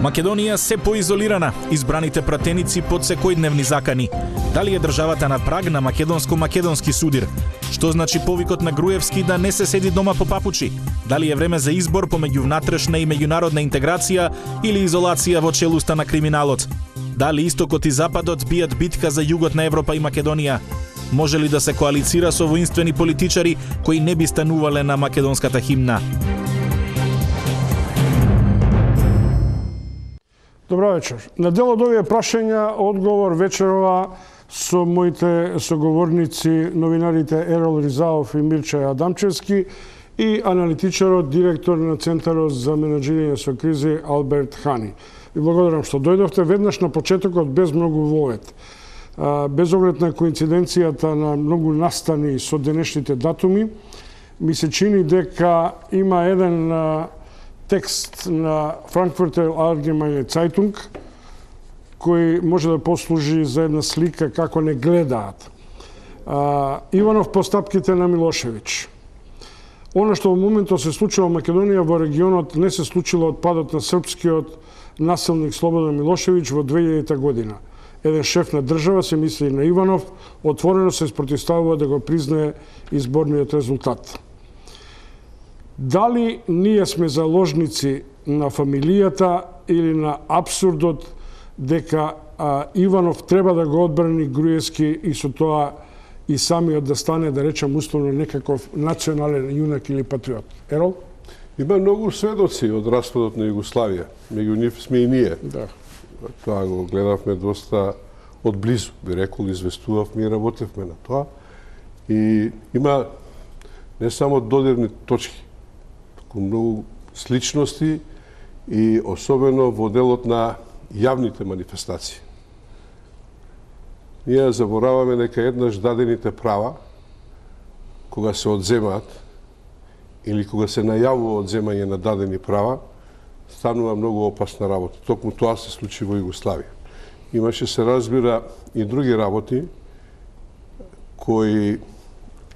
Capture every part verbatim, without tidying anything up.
Македонија се поизолирана, избраните пратеници под секојдневни закани. Дали е државата на праг на македонско-македонски судир? Што значи повикот на Груевски да не се седи дома по папучи? Дали е време за избор помеѓу внатрешна и меѓународна интеграција или изолација во челуста на криминалот? Дали истокот и западот бијат битка за југот на Европа и Македонија? Може ли да се коалицира со воинствени политичари кои не би станувале на македонската химна? Добро вечер. На дел од овие прашања одговор вечерова со моите соговорници, новинарите Ерол Ризаов и Мирча Адамчевски и аналитичарот, директор на Центарот за менаџирање со кризи Алберт Хани. Ви благодарам што дојдовте веднаш на почетокот без многу воет. Без оглед на коинциденцијата на многу настани со денешните датуми, ми се чини дека има еден текст на Frankfurter Allgemeine Zeitung кој може да послужи за една слика како не гледаат. Иванов постапките на Милошевиќ. Оно што во моментот се случува во Македонија во регионот не се случило од падот на српскиот насилник Слободан Милошевиќ во две илјадета година. Еден шеф на држава, се мисли на Иванов, отворено се спротивставува да го признае изборниот резултат. Дали ние сме заложници на фамилијата или на абсурдот дека а, Иванов треба да го одбрани Груевски и со тоа и самиот да стане, да речем, условно некаков национален јунак или патриот? Ерол? Има многу сведоци од распадот на Југославија. Меѓу нив сме и ние. Да. Тоа го гледавме доста одблизу, би рекол, известувавме и работевме на тоа. И има не само додирни точки, туку многу сличности и особено во делот на јавните манифестации. Ние забораваме дека еднаш дадените права, кога се одземаат или кога се најавува одземање на дадени права, станува многу опасна работа. Токму тоа се случи во Југославија. Имаше, се разбира, и други работи кои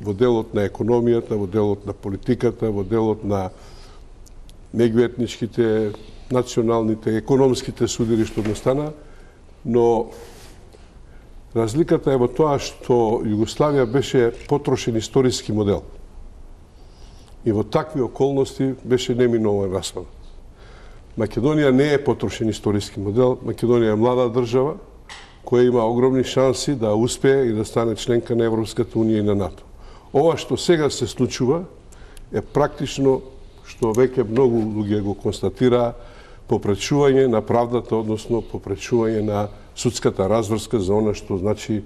во делот на економијата, во делот на политиката, во делот на меѓуетничките, националните, економските судири што настана, но разликата е во тоа што Југославија беше потрошен историски модел. И во такви околности беше неминован распад. Македонија не е потрошен историски модел. Македонија е млада држава која има огромни шанси да успее и да стане членка на Европската унија и на НАТО. Ова што сега се случува е практично, што веќе многу луѓе го констатираа, попречување на правдата, односно попречување на судската разврска за она што значи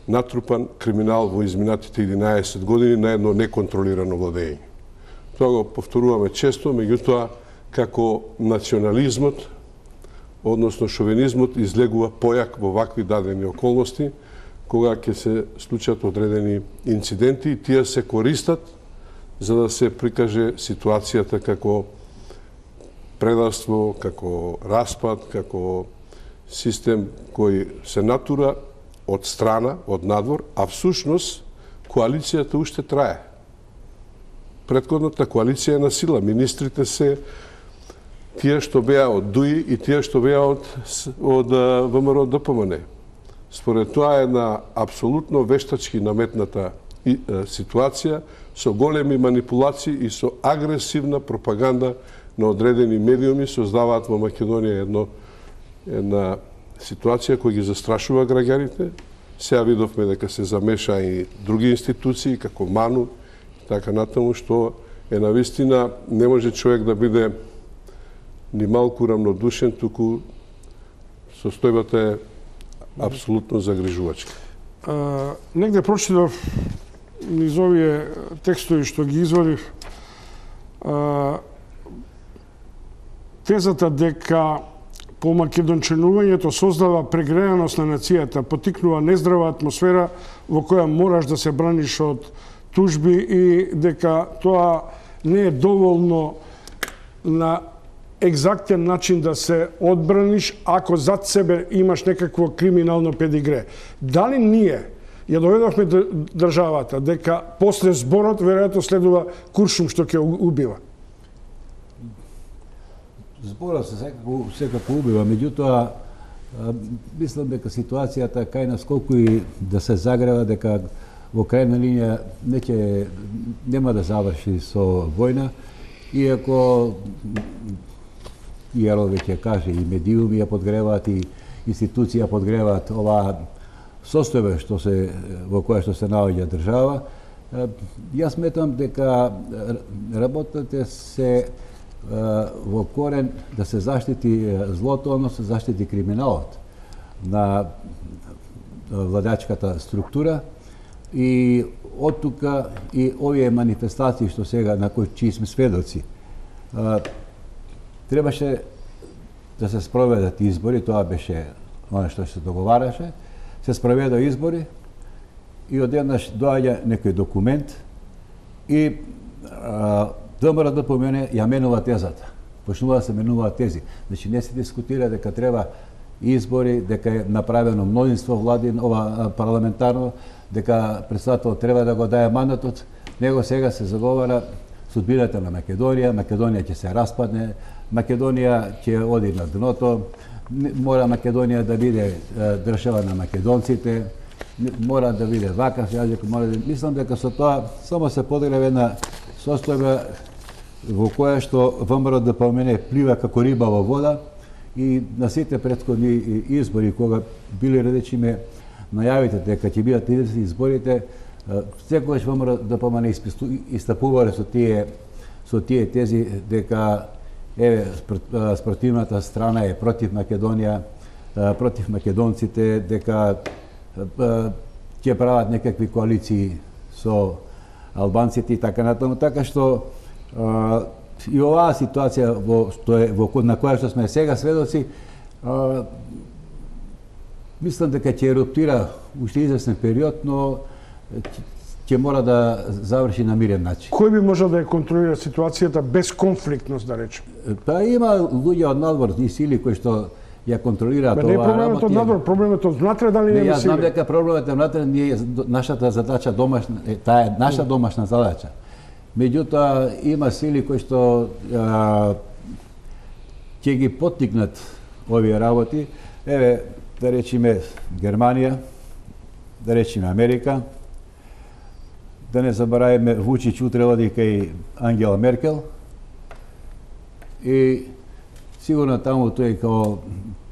натрупан криминал во изминатите единаесет години на едно неконтролирано владење. Тоа го повторуваме често, меѓутоа како национализмот, односно шовинизмот, излегува појак во вакви дадени околности, кога ќе се случат одредени инциденти и тие се користат за да се прикаже ситуацијата како предавство, како распад, како систем кој се натура од страна, од надвор, а всушност коалицијата уште трае. Претходната коалиција е на сила. Министрите се тие што беа од ДУИ и тие што беа од, од ВМРО Д П М Н. Според тоа е една апсолутно вештачки наметната и, е, ситуација со големи манипулации и со агресивна пропаганда на одредени медиуми создаваат во Македонија едно, една ситуација која ги застрашува граѓаните. Сега видовме дека се замеша и други институции, како МАНУ, така натаму, што е навистина не може човек да биде ни малку рамнодушен, туку состојбата е апсолутно загрижувачка. А, негде прочитав низ овие текстови што ги извадив, а, тезата дека по македонченувањето создава прегреаност на нацијата, потикнува нездрава атмосфера во која мораш да се браниш од тужби и дека тоа не е доволно на екзактен начин да се одбраниш ако зад себе имаш некакво криминално педигре. Дали ние ја доведовме државата дека после зборот веројатно следува куршум што ќе убива? зборот се секако, секако убива, меѓутоа мислам дека ситуацијата кај нас колку и да се загрева, дека во крајна линија не ќе, нема да заврши со војна, иако Јерол веќе каже и медиуми ја подгреваат и институции ја подгреваат оваа состојба што се во која што се наоѓа држава. Јас сметам дека работата се во корен да се заштити злото, односно се заштити криминалот на владачката структура и од тука и овие манифестации што сега на кои чии сме сведоци. Требаше да се спроведат избори, тоа беше оно што се договараше, се спроведа избори и одеднаш доаѓа некој документ и ВМРО да помене ја менува тезата. Почнува да се менуваат тези. Значи не се дискутира дека треба избори, дека е направено мнозинство владин, ова парламентарно, дека председател треба да го даде мандатот, него сега се заговара судбината на Македонија, Македонија ќе се распадне, Македонија ќе оди на дното, мора Македонија да биде држава на македонците, мора да биде вакав јазик, мора да... Мислам дека со тоа само се подиграва една состојба во која што ВМРО да помене плива како риба во вода и на сите претходни избори кога биле речиме најавите дека ќе бидат изборите, секогаш ВМРО да помене истапувале со тие со тие тези дека еве спротивната страна е против Македонија, против македонците, дека ќе прават некакви коалиции со албанците и така натаму, така што а, и оваа ситуација во што е во на која што сме сега сведоци, а, мислам дека ќе еруптира уште известен период, но ќе мора да заврши на мирен начин. Кој би можел да ја контролира ситуацијата без конфликтност, да речем? Па има луѓе од надвор и сили кои што ја контролираат оваа работа. Не проблемот од надвор, проблемот од внатре, дали не, нема јас сили? знам дека проблемот е внатре, ние нашата задача домашна, таа е наша домашна задача. Меѓутоа има сили кои што а, ќе ги поттикнат овие работи. Еве, да речеме Германија, да речеме Америка, да не забораваме Вучич утре оди кај Ангела Меркел и сигурно таму тој као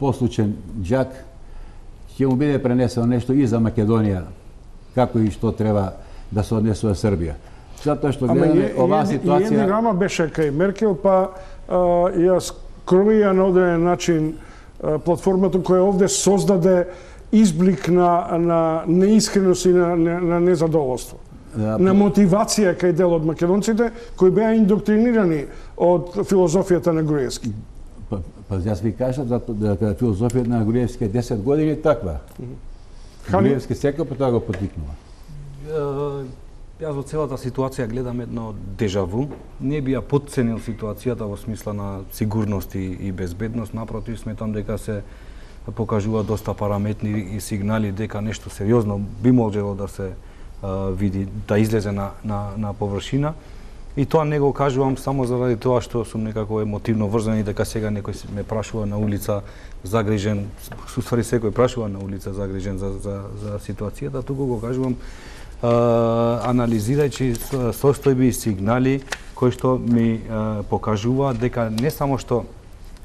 послучен џак ќе му биде пренесено нешто и за Македонија, како и што треба да се однесува Србија. Затоа што гледаме оваа ситуација... И една рама беше кај Меркел, па а, ја скроија на одреден начин а, платформата која овде создаде изблик на, на неискреност и на, на, на незадоволство. Да, на мотивација кај дел од македонците кои беа индоктринирани од филозофијата на Груевски. Па, па јас ви кажав дека филозофијата на Груевски е десет години таква. Груевски секој по тоа го потикнува. Јас во целата ситуација гледам едно дежаву. Не би ја потценил ситуацијата во смисла на сигурност и, и безбедност. Напротив, сметам дека се покажува доста параметни и сигнали дека нешто сериозно би можело да се а, види, да излезе на, на, на површина. И тоа не го кажувам само заради тоа што сум некако емотивно врзан и дека сега некој ме прашува на улица загрижен, суствари секој прашува на улица загрижен за, за, за ситуацијата, туку го кажувам анализирајќи состојби и сигнали кои што ми покажуваат дека не само што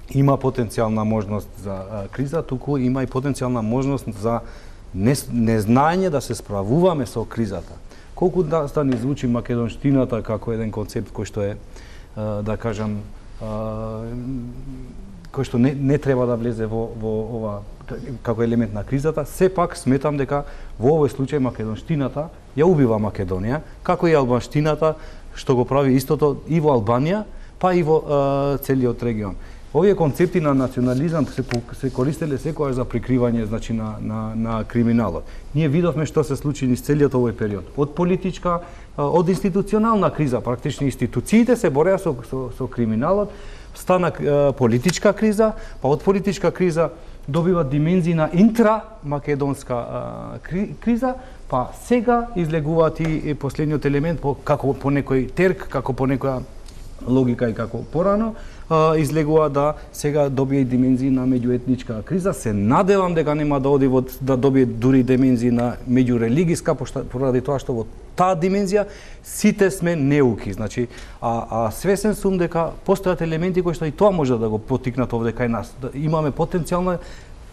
има потенцијална можност за криза, туку има и потенцијална можност за незнаење да се справуваме со кризата. Колку да, да ни звучи македонштината како еден концепт кој што е, да кажам, кој што не, не треба да влезе во, во ова како елемент на кризата, сепак сметам дека во овој случај македонштината ја убива Македонија, како и албанштината што го прави истото и во Албанија, па и во е, целиот регион. Овие концепти на национализам се, се користеле секогаш за прикривање, значи, на, на, на криминалот. Ние видовме што се случи низ целиот овој период. Од политичка, од институционална криза, практично институциите се бореа со, со, со криминалот, стана е, политичка криза, па од политичка криза добива димензии на интрамакедонска кри, криза, па сега излегуваат и последниот елемент по, како по некој терк, како по некоја логика и како порано, а, излегува да сега добие димензии на меѓуетничка криза. Се надевам дека нема да оди во да добие дури димензии на меѓурелигиска, поради тоа што во таа димензија сите сме неуки. Значи, а, а свесен сум дека постојат елементи кои што и тоа може да го потикнат овде кај нас. Да имаме потенцијална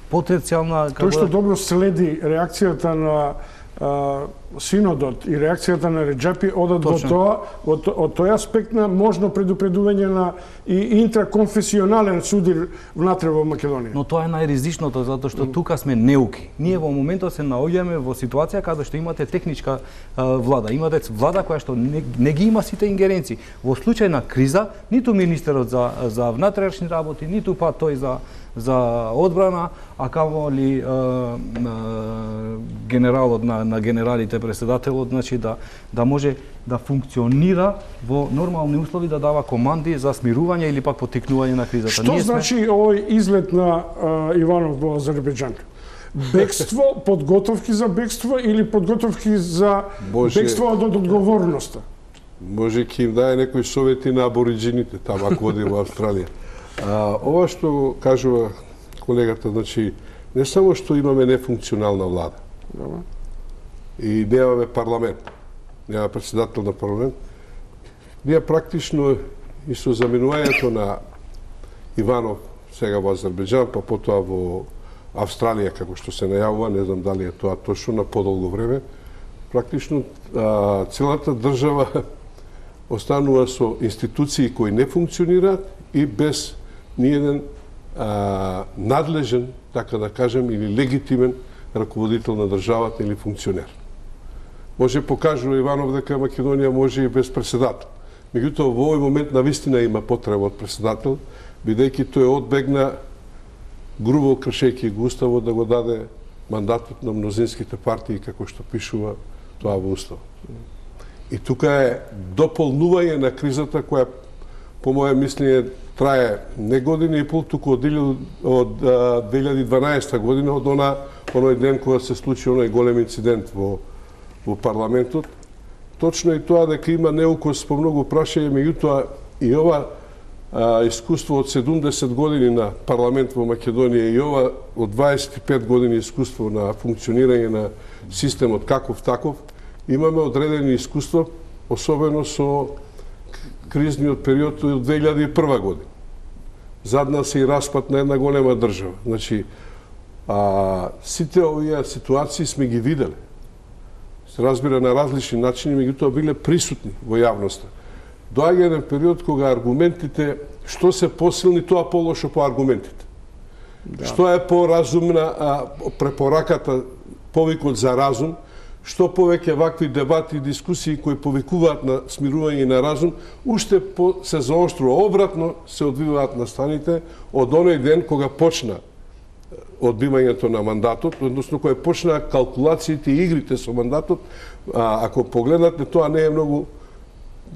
потенцијална Тој што добро следи реакцијата на а, синодот и реакцијата на Реджепи одат во тоа, од, од тој аспект на можно предупредување на и интраконфесионален судир внатре во Македонија. Но тоа е најризичното, затоа што тука сме неуки. Ние во моментот се наоѓаме во ситуација каде што имате техничка а, влада, имате влада која што не, не ги има сите ингеренции. Во случај на криза, ниту министерот за за внатрешни работи, ниту па тој за за одбрана, а камоли генералот на, на генералите, преседателот, значи да да може да функционира во нормални услови, да дава команди за смирување или пак потикнување на кризата. Што Ние значи сме... овој излет на а, Иванов во Азербејџан? Бегство, подготовки за бегство или подготовки за Боже... бегство од одговорноста? Може ќе им даде некои совети на абориджините таму ако оди во Австралија. А, ова што кажува колегата, значи, не само што имаме нефункционална влада, Добре. и немаме парламент, нема председател на парламент, ние практично и со заменувањето на Иванов сега во Азербејџан, па потоа во Австралија, како што се најавува, не знам дали е тоа точно, на подолго време, практично а, целата држава останува со институции кои не функционираат и без ниеден а, надлежен, така да кажем, или легитимен раководител на државата или функционер. Може покажува Иванов дека Македонија може и без председател. Меѓутоа, во овој момент навистина има потреба од председател, бидејќи тој одбегна грубо кршејќи го уставот да го даде мандатот на мнозинските партии, како што пишува тоа во уставот. И тука е дополнување на кризата која, по моје мислење, трае не година и пол, туку од две илјади и дванаесета година, од она, оној ден кога се случи оној голем инцидент во, во парламентот. Точно и тоа дека има неукос по многу прашања, меѓутоа и ова а, искуство од седумдесет години на парламент во Македонија и ова од дваесет и пет години искуство на функционирање на системот каков таков, имаме одредени искуства, особено со кризниот период од две илјади и прва година. Задна се и распад на една голема држава. Значи, а, сите овие ситуации сме ги виделе. Се разбира на различни начини, меѓутоа биле присутни во јавноста. Доаѓа еден период кога аргументите, што се посилни, тоа полошо по аргументите. Да. Што е поразумна а, препораката, повикот за разум, што повеќе вакви дебати и дискусии кои повикуваат на смирување на разум, уште по, се заоштрува, обратно се одвиваат настаните од оној ден кога почна одбивањето на мандатот, односно кога почна калкулациите и игрите со мандатот. А, ако погледнате, тоа не е многу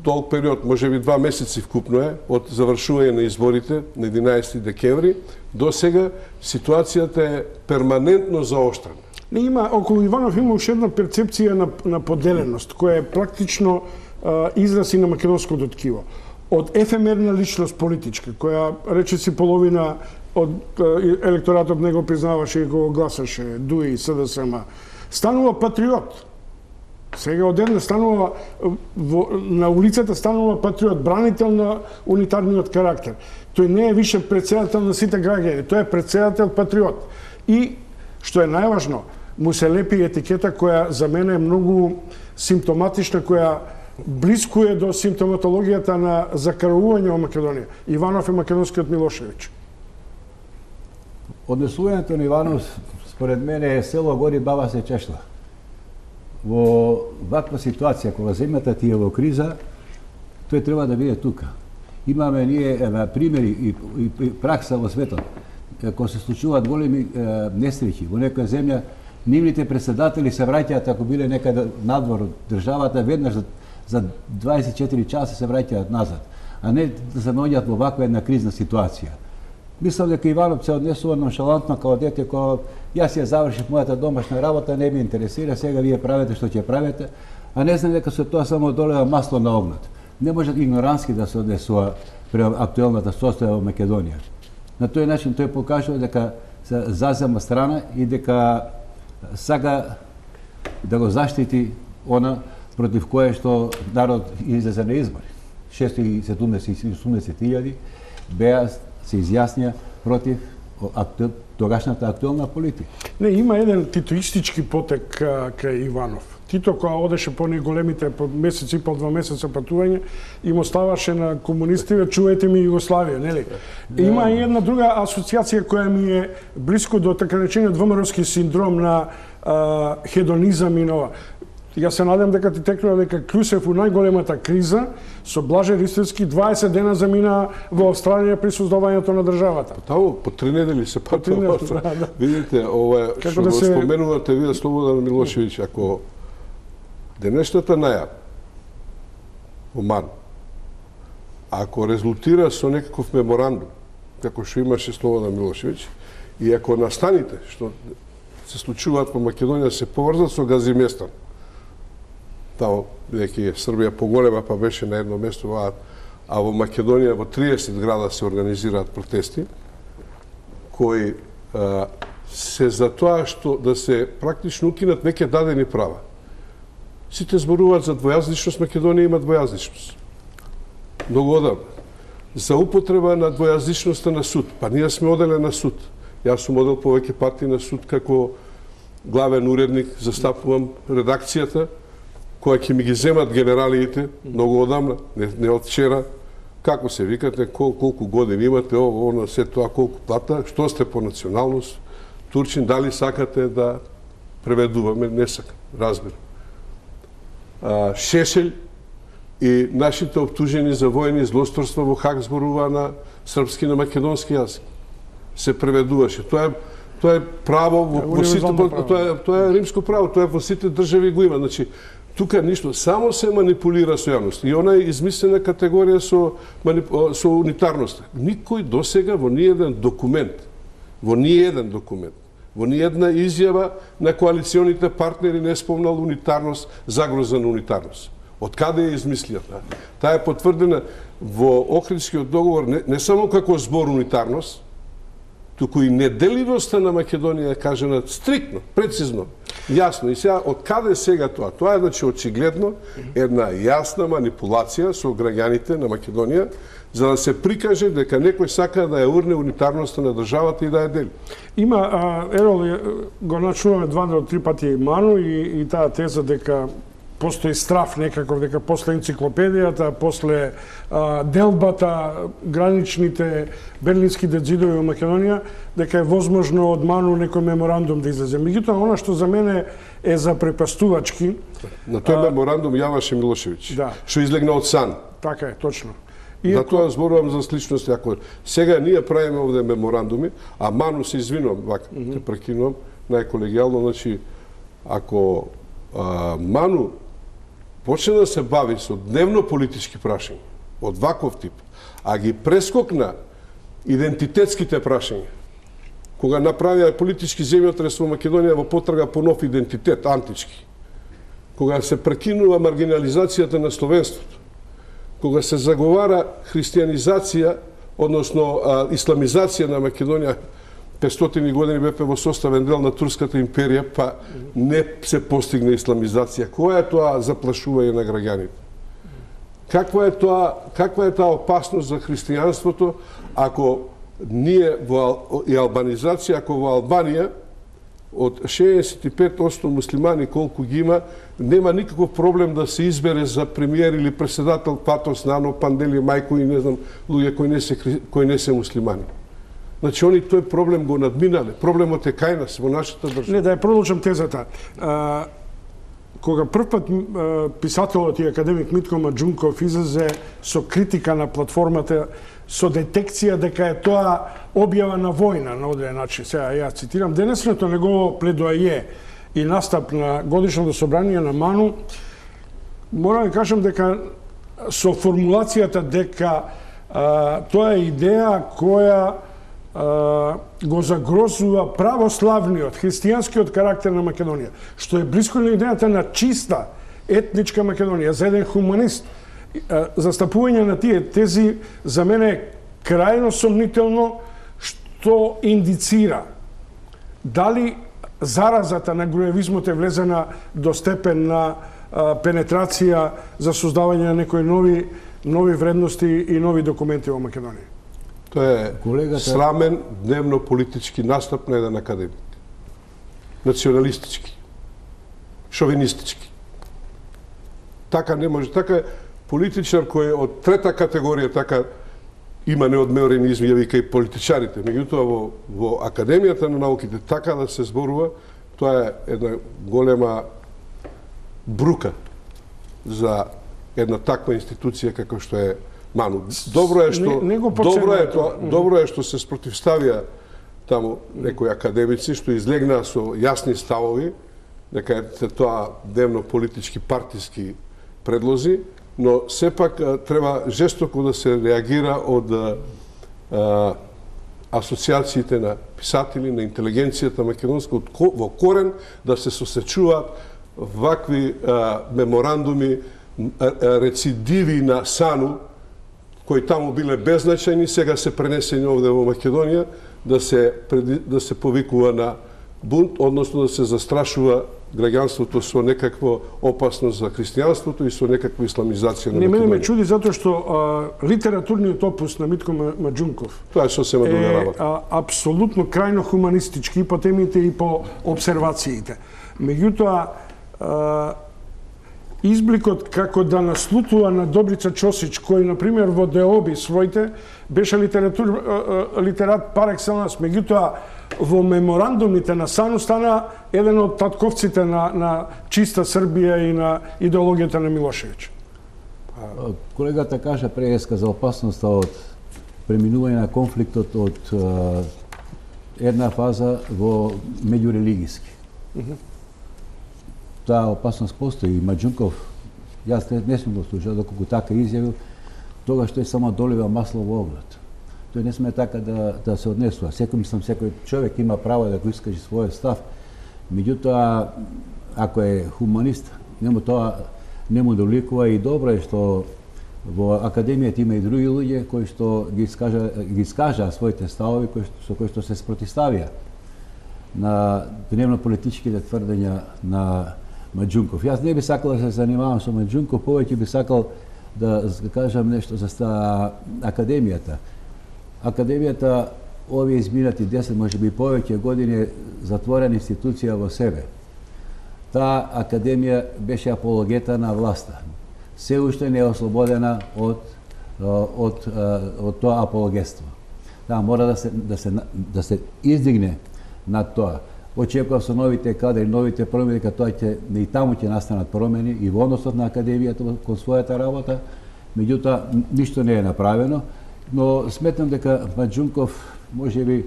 долг период, може би два месеци вкупно е, од завршување на изборите на единаесети декември, до сега ситуацијата е перманентно заоштрена. Не има, околу Иванов има уште една перцепција на, на поделеност, која е практично а, израз и на македонското ткиво. Од ефемерна личност политичка, која речиси половина од а, електоратот не го признаваше и го гласаше, ДУИ, СДСМ, станува патриот. Сега одеднаш станува во, на улицата станува патриот, бранител на унитарниот карактер. Тој не е више претседател на сите граѓани, тој е претседател патриот. И што е најважно, му се лепи етикета која за мене е многу симптоматична, која близко е до симптоматологијата на закараување во Македонија. Иванов е македонскиот Милошевиќ. Однесувањето на Иванов, според мене, е село гори, баба се чешла. Во ваква ситуација, кога земјата ти е во криза, тој треба да биде тука. Имаме ние еве, примери и, и, и пракса во светот. Кога се случуваат големи е, несреќи во некоја земја, нивните председатели се враќаат, ако биле некаде надвор од државата, веднаш за, за дваесет и четири часа се враќаат назад, а не да се наоѓаат во ваква една кризна ситуација. Мислам дека Иванов се однесува ноншалантно као дете, кога јас ја завршив мојата домашна работа, не ме интересира, сега вие правите што ќе правите, а не знам дека со тоа само долева масло на огнот. Не може игнорански да се однесува пред актуелната состојба во Македонија. На тој начин тој покажува дека се зазема страна и дека сака да го заштити она против кое што народ излезе на избори. шестоста и седумдесет илјади беа се изјаснија против акту... тогашната актуелна политика. Не, има еден титоистички потек кај Иванов. Тито кога одеше по неголемите по месец и пол, два месеца патување и му ставаше на комунистиве, чуете ми Југославија, нели? Да. Има и една друга асоциација која ми е блиско до така речениот ВМРО-ски синдром на а, хедонизам и нова. Ја се надам дека ти текнува дека Клюсев у најголемата криза со Блаже Ристевски дваесет дена замина во Австралија при создавањето на државата. Таму по три недели се патува. Да, да. Видите, ова што да го се... споменувате вие Слободан Милошевиќ, ако денешната најава во МАН, ако резултира со некаков меморандум, како што имаше Слободан Милошевиќ, и ако настаните што се случуваат во Македонија се поврзат со Газиместан, тамо, бидејќи Србија поголема, па беше на едно место, а, а во Македонија во триесет града се организираат протести, кои а, се за тоа што да се практично укинат веќе дадени права. Сите зборуваат за двојазичност, Македонија има двојазичност. Многу одамна. За употреба на двојазичноста на суд. Па ние сме оделе на суд. Јас сум одел повеќе пати на суд како главен уредник, застапувам редакцијата, која ќе ми ги земат генералиите, многу одамна, не, не од вчера, како се викате, кол, колку години имате, ово, оно, се тоа, колку плата, што сте по националност, Турчин, дали сакате да преведуваме, не сакам, разбирам. А, Шешелј и нашите обтужени за војни злосторства во Хаг зборува на српски, на македонски јазик. Се преведуваше. Тоа е тоа е право во, во сите, тоа е тоа е римско право, тоа е во сите држави го има. Значи, тука ништо, само се манипулира со јавност. И она е измислена категорија со со унитарност. Никој досега во ниеден документ, во ниеден документ, во ниедна изјава на коалиционите партнери не спомнал унитарност, загроза на унитарност. Од каде е измислијата? Таа е потврдена во Охридскиот договор не, не само како збор унитарност, туку и неделивоста на Македонија е кажена стриктно, прецизно, јасно. И сега, од каде сега тоа? Тоа е, значи, очигледно една јасна манипулација со граѓаните на Македонија, за да се прикаже дека некој сака да ја урне унитарноста на државата и да ја дели. Има, а, Ерол, го начуваме два до три пати Ману и, и таа теза дека постои страф некаков, дека после енциклопедијата, после а, делбата, граничните берлински зидови во Македонија, дека е возможно од Ману некој меморандум да излезе. Меѓутоа, она што за мене е запрепастувачки... На тој а, меморандум јаваше Милошевиќ, да, што излегна од сан. Така е, точно. Иако... Затоа зборувам за сличности. Ако сега ние правиме овде меморандуми, а Ману се извинувам, вака, mm -hmm. те прекинувам, најколегијално, значи, ако а, Ману почне да се бави со дневно политички прашања од ваков тип, а ги прескокна идентитетските прашања, кога направија политички земјотрес во Македонија во потрага по нов идентитет, антички, кога се прекинува маргинализацијата на словенството, кога се заговара христијанизација, односно а, исламизација на Македонија, петстотини години бевме во составен дел на Турската империја, па не се постигна исламизација. Која е тоа заплашување на граѓаните? Каква е тоа, каква е таа опасност за христијанството ако ние во и албанизација, ако во Албанија од шеесет и пет одсто муслимани колку ги има, нема никаков проблем да се избере за премиер или председател Патос, Нано, Пандели, Мајко и не знам луѓе кои не се кои не се муслимани. Значи, они тој проблем го надминале. Проблемот е кај нас, во нашата држава. Не, да ја продолжам тезата. А, кога првпат писателот и академик Митко Маџунков излезе со критика на платформата, со детекција дека е тоа објава на војна на одреден начин. Сега ја цитирам, денесното негово пледоаје и настап на годишното собрание на Ману, морам да кажам дека со формулацијата дека а, тоа е идеја која а, го загрозува православниот, христијанскиот карактер на Македонија, што е близко на идејата на чиста етничка Македонија. За еден хуманист Застапување на тие тези за мене е крајно сомнително, што индицира дали заразата на груевизмот е влезена до степен на пенетрација за создавање на некои нови нови вредности и нови документи во Македонија. Тоа е Колегата... срамен дневно политички настап на еден академик. Националистички, шовинистички. Така не може, така политичар кој од трета категорија така има неодмерени изјави кај политичарите. Меѓутоа во, во Академијата на науките така да се зборува, тоа е една голема брука за една таква институција како што е МАНУ. Добро е што не, не добро е тоа, добро е што се спротивставија таму некои академици што излегнаа со јасни ставови, дека е тоа дневно политички партиски предлози, но сепак треба жестоко да се реагира од а, асоциациите на писатели, на интелигенцијата македонска, од, во корен да се сосечуваат вакви а, меморандуми, а, рецидиви на САНУ, кои таму биле беззначајни, сега се пренесени овде во Македонија, да се, да се повикува на бунт, односно да се застрашува граѓанството со некакво опасност за христијанството и со некаква исламизација на Македонија. Не, мене ме чуди затоа што а, литературниот опус на Митко Маџунков тоа е сосема друга работа. Е апсолутно крајно хуманистички и по темите и по обсервациите. Меѓутоа, а, избликот како да наслутува на Добрица Чосич, кој, например, во Деоби своите, беше литератур, литерат пар екселанс, меѓутоа, во меморандумите на САНУ стана еден од татковците на, на чиста Србија и на идеологијата на Милошевиќ. Колегата кажа преска за опасноста од преминување на конфликтот од uh, една фаза во меѓурелигиски. Mm -hmm. Таа опасност постои. И Маџунков, јас не, не сум го слушал, доколку така изјавил, тогаш тој само долива масло во огнот. Тој не сме така да, да се однесува. Секој, мислам, секој човек има право да го искаже својот став. Меѓутоа, ако е хуманист, нему тоа не му доликува и добро е што во Академијата има и други луѓе кои што ги искажа, ги искажа своите ставови кои, со кои што се спротивставија на дневно политичките тврдења на Маџунков. Јас не би сакал да се занимавам со Маџунков, повеќе би сакал да кажам нешто за Академијата. Академијата овие изминати десет, може би повеќе години е затворена институција во себе. Таа Академија беше апологета на власта. Се уште не е ослободена од, од, од тоа апологетство. Таа мора да се, да се, да се издигне над тоа. Очекувам со новите кадри, новите промени, дека тоа ќе и таму ќе настанат промени и во односот на Академијата кон својата работа. Меѓутоа, ништо не е направено, но сметам дека Маџунков можеби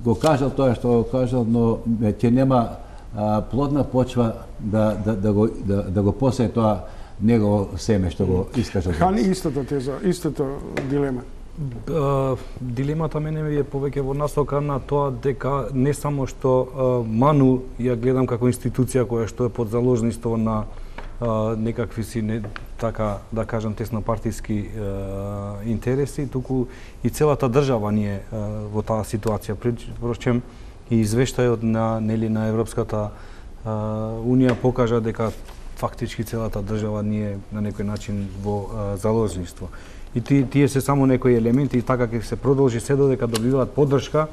го кажал тоа што го кажал, но ќе нема а, плодна почва да, да, да, го, да, да го посее тоа негово семе што го искажа. Хани истата теза, истата дилема. Дилемата мене е повеќе во насока на тоа дека не само што МАНУ ја гледам како институција која што е под заложништво на некакви си не, така да кажам тесно партиски интереси, туку и целата држава ни е во таа ситуација. Впрочем и извештајот на нели на Европската унија покажа дека фактички целата држава ни е на некој начин во заложништво. И тие се само некои елементи и така ќе се продолжи се додека добиваат поддршка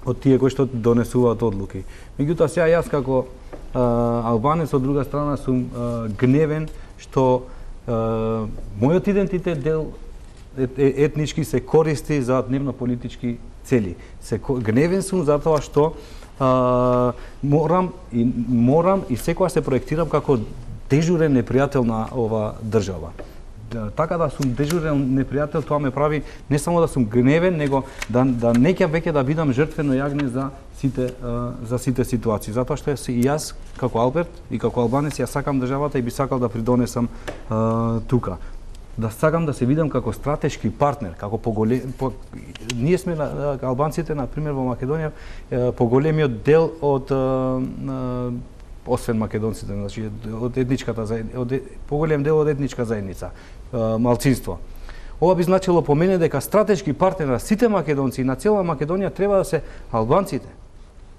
од тие кои што донесуваат одлуки. Меѓутоа сега јас како а, албанец од друга страна сум а, гневен што а, мојот идентитет дел етнички се користи за дневно политички цели. Се гневен сум затоа што а, морам и морам и секогаш се проектирам како дежурен непријател на ова држава. Така да сум дежурен непријател, тоа ме прави не само да сум гневен, него да, да не ќе веќе да бидам жртвено јагне за сите, за сите ситуации. Затоа што и јас, како Алберт и како албанец, ја сакам државата и би сакал да придонесам а, тука. Да сакам да се видам како стратешки партнер, како поголем... По... Ние сме, албанците, например, во Македонија, поголемиот дел од а, а, освен македонците, значи од етничката заедница, од поголем дел од етничка заедница, малцинство. Ова би значило по мене дека стратешки партнер на сите македонци и на цела Македонија треба да се албанците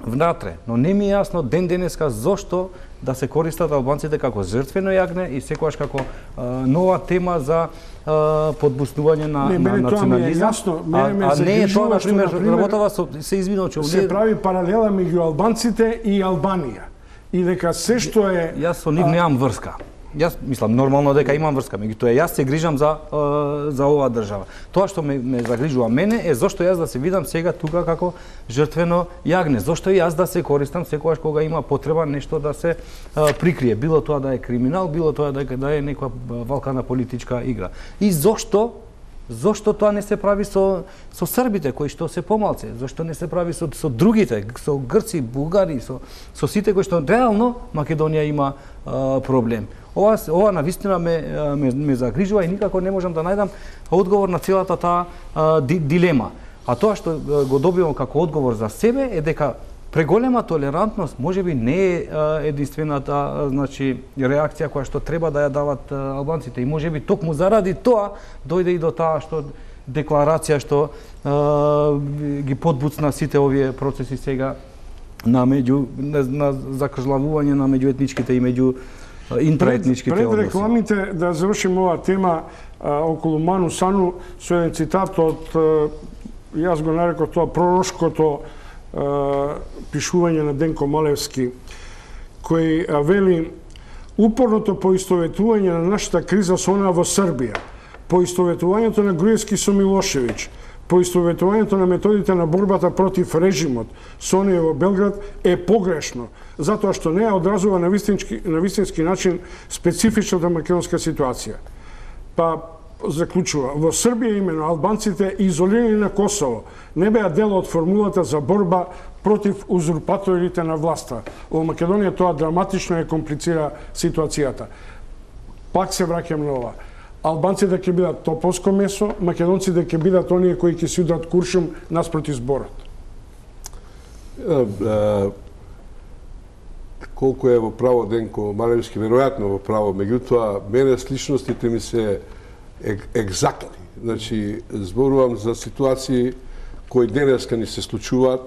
внатре, но не ми е јасно ден денеска зошто да се користат албанците како жртвено јагне и секогаш како а, нова тема за а, подбуснување на, не, на национализам. Јасно, мене ме а, а не е тоа, загрижува што, например, например, работава со, се извинувам, че се прави паралела меѓу албанците и Албанија. И дека се што е... Јас со нив немам врска. Јас мислам нормално дека имам врска, меѓутоа јас се грижам за за оваа држава. Тоа што ме, ме загрижува мене е зошто јас да се видам сега тука како жртвено јагне. Зошто јас да се користам секогаш кога има потреба нешто да се а, прикрие, било тоа да е криминал, било тоа да, да е некоја валкана политичка игра. И зошто Зошто тоа не се прави со со србите кои што се помалце? Зошто не се прави со со другите, со грци, бугари, со со сите кои што реално Македонија има а, проблем? Ова ова навистина ме, ме ме загрижува и никако не можам да најдам одговор на целата таа а, ди, дилема. А тоа што го добивам како одговор за себе е дека преголема толерантност можеби не е единствената значи реакција која што треба да ја дават албанците и можеби токму заради тоа дојде и до таа што декларација што а, ги подбуцна сите овие процеси сега на меѓу на, на закржлавување на меѓуетничките и меѓу интраетничките односи. Пред рекламите да завршим оваа тема а, околу Ману Сану со еден цитат од а, јас го нареков тоа пророчкото пишување на Денко Малевски, кој вели: упорното поистоветување на нашата криза со онаа во Србија, поистоветувањето на Груевски со Милошевиќ, поистоветувањето на методите на борбата против режимот со оние во Белград е погрешно, затоа што не ја одразува на вистински, на вистински начин специфичната македонска ситуација. Па заклучува, во Србија имено албанците изолирани на Косово не беа дел од формулата за борба против узурпаторите на власта. Во Македонија тоа драматично е комплицира ситуацијата. Пак се враќам на ова. Албанците ќе бидат топовско месо, македонците ќе бидат оние кои ќе си удрат куршум наспроти зборот. Колку е во право Денко Малевски, веројатно во право, меѓутоа мене сличностите ми се екзактни. Значи, зборувам за ситуации кои денеска ни се случуваат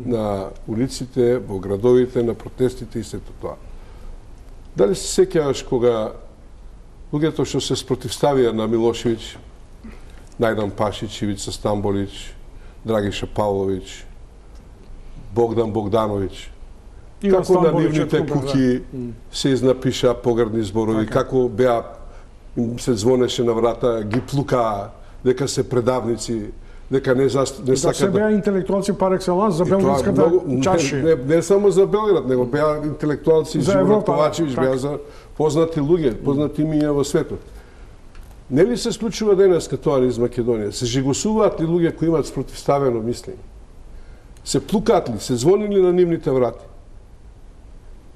на улиците, во градовите, на протестите и сето тоа. Дали се сеќаваш кога луѓето што се спротивставија на Милошевиќ, Најдан Пашич, Ивица Стамболич, Драгиша Павлович, Богдан Богдановиќ, како на нивните куќи се изнапиша погрдни зборови, како беа се звонеше на врата, ги плукаа, дека се предавници, дека не, за, не сакат да... се беа интелектуалци пар екселанс за белградската чаши. Не, не, не само за Белград, него беа интелектуалци, Живо Ковачевиќ, беа за познати луѓе, познати имиња во светот. Нели се случува денеска тоа низ Македонија? Се жигосуваат ли луѓе кои имаат спротивставено мислење? Се плукаат ли, се звонили на нивните врати?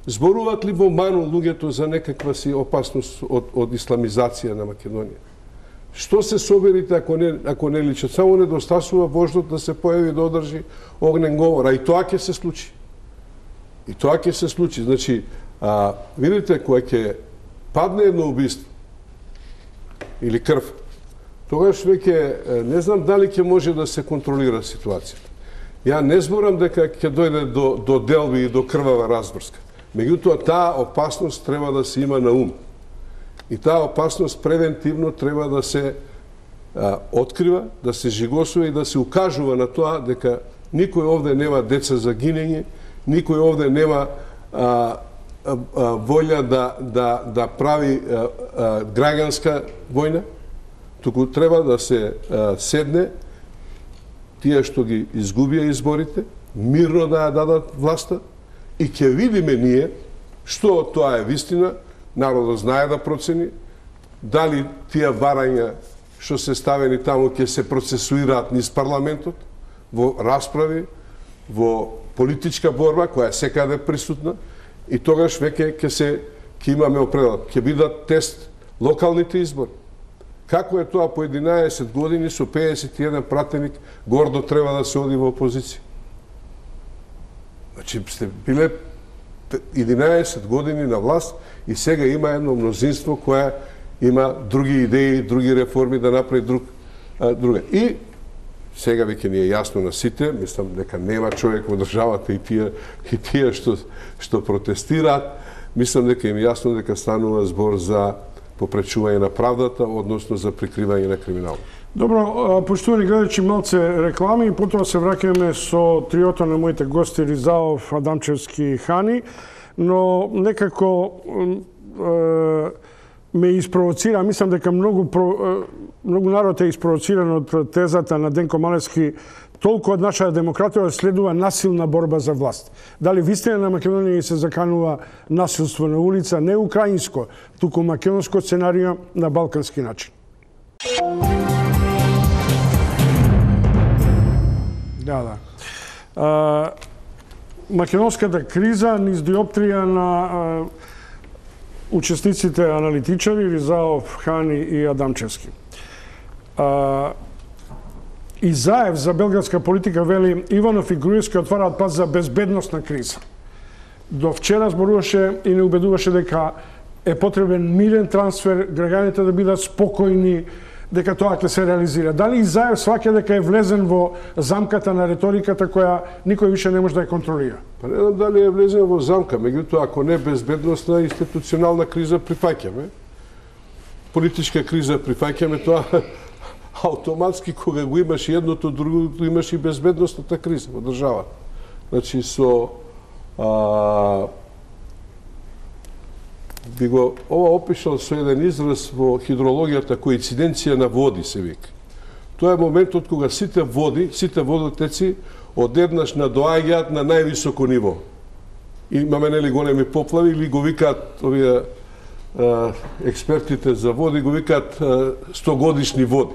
Зборуваат ли во Ману луѓето за некаква си опасност од, од исламизација на Македонија? Што се соберите ако не, ако не личат? Само недостасува вождот да се појави да одржи огнен говор, а и тоа ќе се случи. И тоа ќе се случи. Значи, а, видите, кога ќе падне едно убиство или крв, тогаш веќе не знам дали ќе може да се контролира ситуацијата. Ја не зборам дека ќе дојде до, до делби и до крвава разбрска. Меѓутоа, таа опасност треба да се има на ум. И таа опасност превентивно треба да се а, открива, да се жигосува и да се укажува на тоа дека никој овде нема деца за гинење, никој овде нема а, а, а, волја да, да, да прави а, а, граѓанска војна, туку треба да се а, седне тие што ги изгубија изборите, мирно да ја дадат власта, и ќе видиме ние што тоа е вистина, народот знае да процени, дали тие барања што се ставени таму ќе се процесуираат низ парламентот, во расправи, во политичка борба која е секаде присутна, и тогаш веќе ќе се ќе имаме определ, ќе бидат тест локалните избори. Како е тоа по единаесет години со пеесет и еден пратеник гордо треба да се оди во опозиција? Значи, сте биле единаесет години на власт и сега има едно мнозинство кое има други идеи, други реформи да направи друг, а, друга. И сега веќе ни е јасно на сите, мислам дека нема човек во државата и тие и тие што што протестираат, мислам дека им е јасно дека станува збор за попречување на правдата, односно за прикривање на криминал. Добро, поштувани гледачи, малце реклами и потоа се враќаме со триото на моите гости Ризаов, Адамчевски и Хани, но некако е, ме испровоцира, мислам дека многу многу народ е испровоциран од тезата на Денко Малевски, толку од нашата демократија следува насилна борба за власт. Дали вистина на Македонија се заканува насилство на улица, не украинско, туку македонско сценарио на балкански начин. Да, да. А, македонската криза низ диоптрија на а, учесниците аналитичари Ризаов, Хани и Адамчевски. А, и Заев за белградска политика вели Иванов и Груевски отвараат пат за безбедносна криза. До вчера зборуваше и не убедуваше дека е потребен мирен трансфер, граѓаните да бидат спокојни, дека тоа ќе се реализира. Дали и Заев сваќа дека е влезен во замката на реториката која никој више не може да ја контролира? Па не знам дали е влезен во замка, меѓутоа ако не безбедносна институционална криза прифаќаме. Политичка криза прифаќаме, тоа автоматски кога го имаш едното, другото имаш и безбедностната криза во државата. Значи со а, би го ова опишал со еден израз во хидрологијата коинциденција на води се вика. Тоа е моментот кога сите води, сите водотеци одеднаш надоаѓаат на највисоко ниво. Имаме нели големи поплави или го викаат овие а, експертите за води го викаат стогодишни води.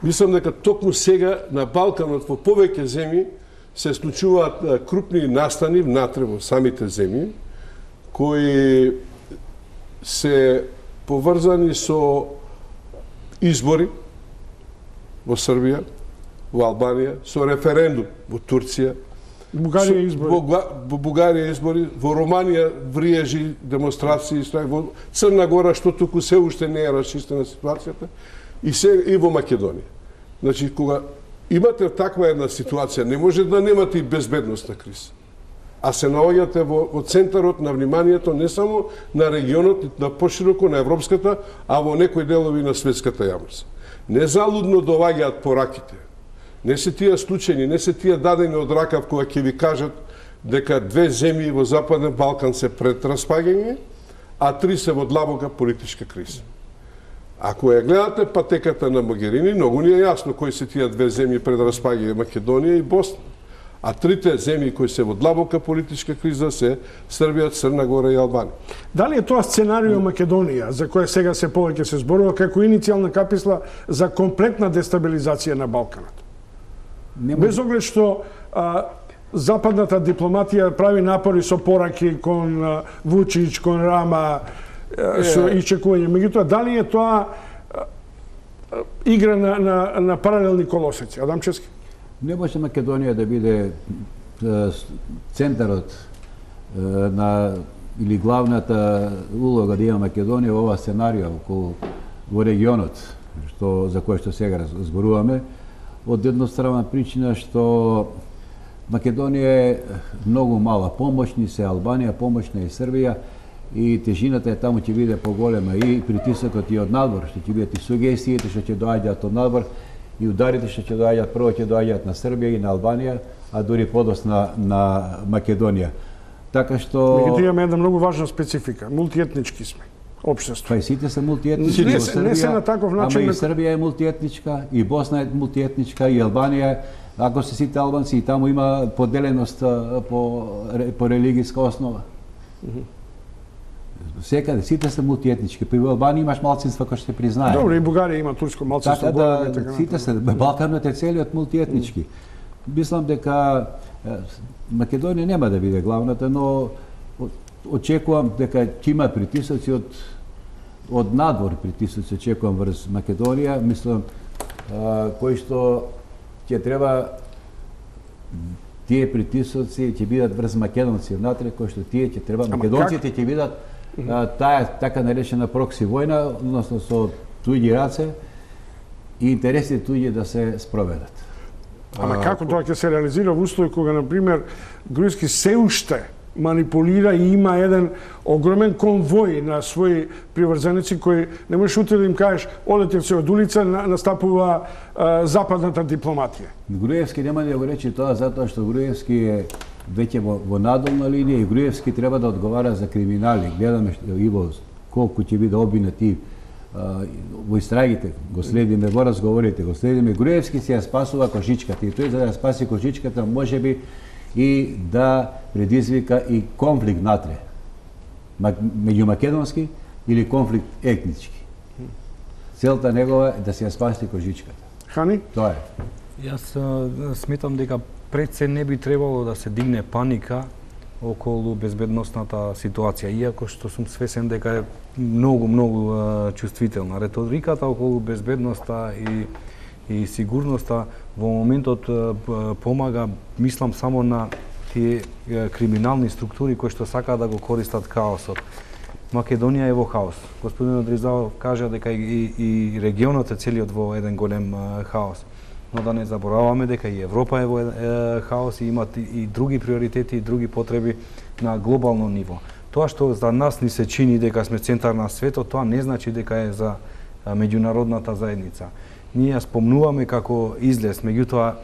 Мислам дека токму сега на Балканот во повеќе земји се случуваат крупни настани внатре во самите земји кои се поврзани со избори во Србија, во Албанија, со референдум во Турција, Бугарија избори. Во, во Бугарија избори, во Романија вриежи демонстрации, во Црна Гора, што туку се уште не е расчистена ситуацијата, и се и во Македонија. Значи, кога имате таква една ситуација, не може да немате и безбедностна криза. А се наоѓате во, во центарот на вниманието не само на регионот, на пошироко на европската, а во некои делови на светската јавност. Незалудно доаѓаат пораките. Не се тие случајни, не се тие дадени од ракав кога ќе ви кажат дека две земји во Западен Балкан се пред распаѓање, а три се во длабока политичка криза. Ако ја гледате патеката на Могерини, многу ни е јасно кои се тие две земји пред распаѓање, Македонија и Босна. А трите земји кои се во длабока политичка криза се Србија, Црна Гора и Албанија. Дали е тоа сценарио Македонија, за која сега се повеќе се зборува, како иницијална каписла за комплетна дестабилизација на Балканот? Нема... Без оглед што а, западната дипломатија прави напори со пораки кон а, Вучич, кон Рама, а, со е... ичекување. Меѓутоа, дали е тоа а, а, игра на, на, на паралелни колосеци? Адамчевски? Не може Македонија да биде центарот на или главната улога да има Македонија во ова сценарио околу во регионот што за кој што сега зборуваме, од едностранна причина што Македонија е многу мала, помошни се Албанија, помошна и Србија и тежината е таму ќе биде поголема и притисокот и од надвор, што ќе бидат и сугестиите што ќе доаѓаат од надвор и ударите што ќе доаѓаат, прво ќе доаѓаат на Србија и на Албанија, а дури подосна на Македонија. Така што... Меѓутоа имаме една многу важна специфика. Мултиетнички сме. Општество. Па и сите се мултиетнички не, во Србија, не се на таков начин... ама и Србија е мултиетничка, и Босна е мултиетничка, и Албанија, ако се сите албанци, и таму има поделеност по, по религијска основа. Mm -hmm. Секаде, сите се мултиетнички. При Албанија имаш малцинства кои се признаат. Добро, и Бугарија има турско малцинство. Така да, така сите се, Балканот е целиот мултиетнички. Мислам дека Македонија нема да биде главната, но очекувам дека ќе има притисоци од од надвор притисоци, очекувам врз Македонија, мислам, а, кои што ќе треба тие притисоци ќе бидат врз македонци внатре, кои што тие ќе треба, македонците ќе бидат а, таа така наречена прокси војна, односно со туѓи раце и интересите туѓи да се спроведат. Ама како тоа ќе се реализира во услови кога, например, Груевски се уште манипулира и има еден огромен конвој на своји приврзеници кои не можеш утре да им кажеш одете се од улица, настапува а, западната дипломатија. Груевски нема да го рече тоа затоа што Груевски е веќе во, во надолна линија и Груевски треба да одговара за криминали. Гледаме што Иво колку ќе биде обвинети во истрагите, го следиме во разговорите, го следиме. Груевски се ја спасува кожичката и тој за да ја спаси кожичката можеби и да предизвика и конфликт натре, меѓу македонски или конфликт етнички. Целта негова е да се ја спаси кожичката. Хани? Тоа е. Јас а, сметам дека пред се не би требало да се дигне паника околу безбедносната ситуација, иако што сум свесен дека е многу, многу а, чувствителна. Реториката околу безбедноста и и сигурноста во моментот а, помага, мислам само на тие а, криминални структури кои што сакаат да го користат хаосот. Македонија е во хаос. Господин Одризалов кажа дека и, и регионот е целиот во еден голем а, хаос. Но да не забораваме дека и Европа е во е, хаос и имат и, и други приоритети и други потреби на глобално ниво. Тоа што за нас ни се чини дека сме центар на светот, тоа не значи дека е за а, меѓународната заедница. Ние ја спомнуваме како излез, меѓутоа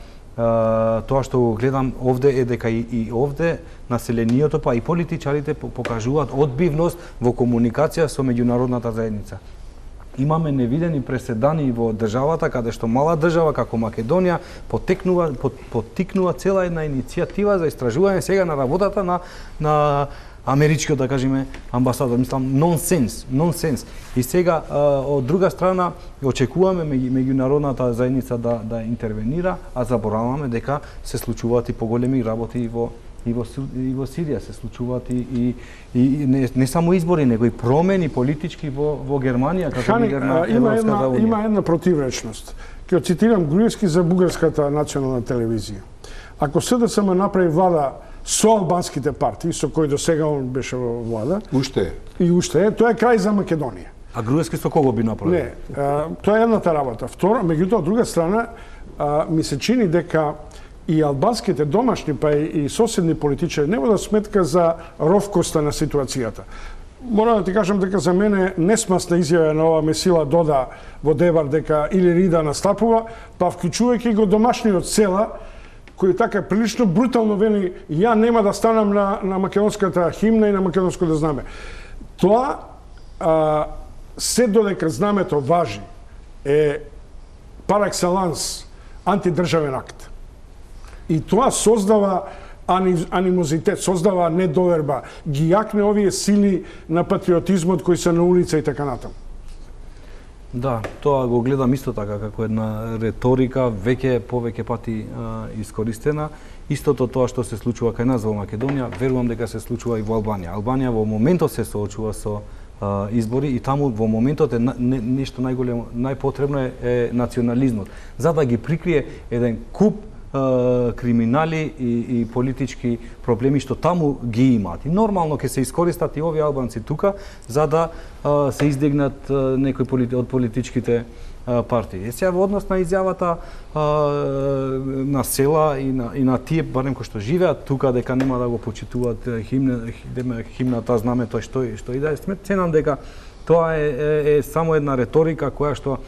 тоа што го гледам овде е дека и, и овде населението па и политичарите покажуваат одбивност во комуникација со меѓународната заедница. Имаме невидени преседани во државата, каде што мала држава како Македонија потекнува, поттикнува цела една иницијатива за истражување сега на работата на, на америчкиот, да кажеме, амбасадор. Мислам, нонсенс, нонсенс. И сега, од друга страна, очекуваме меѓународната заедница да, да интервенира, а забораваме дека се случуваат и поголеми работи и во и во, и во Сирија, се случуваат и, и, и не, не само избори, него и промени политички во, во Германија, како Хани, лидер на има една, Европската унија. има една противречност. Ќе цитирам Груевски за бугарската национална телевизија. Ако СДСМ направи влада со албанските партии, со кои до сега он беше во влада, Уште е. и уште е, тоа е крај за Македонија. А Груевски со кого би направил? Не, а, тоа е едната работа. Втора, меѓутоа, од друга страна, а, ми се чини дека и албанските домашни, па и, и соседни политичари не водат сметка за ровкоста на ситуацијата. Мора да ти кажам дека за мене несмасна изјава на ова Месила Дода во Девар дека или Рида настапува, па вклучувајќи го домашниот Села, кој така прилично брутално вели ја нема да станам на, на македонската химна и на македонското знаме. Тоа, а, се додека знамето важи, е пар екселанс антидржавен акт. И тоа создава анимозитет, создава недоверба, ги јакне овие сили на патриотизмот кои се на улица и така натаму. Да, тоа го гледам исто така како една реторика веќе повеќе пати а, искористена. Истото тоа што се случува кај нас во Македонија, верувам дека се случува и во Албанија. Албанија во моментот се соочува со а, избори и таму во моментот е не, нешто најголемо, најпотребно е, е национализмот, за да ги прикрие еден куп криминали и, и политички проблеми што таму ги имаат. И нормално ќе се искористат и овие албанци тука за да а, се издигнат а, некои полити, од политичките а, партии. Е сега во однос на изјавата а, на Села и на, и на тие барем кои што живеат тука дека нема да го почитуваат химна, химната, знамето што што и да е, ценам дека тоа е, е, е само една реторика која што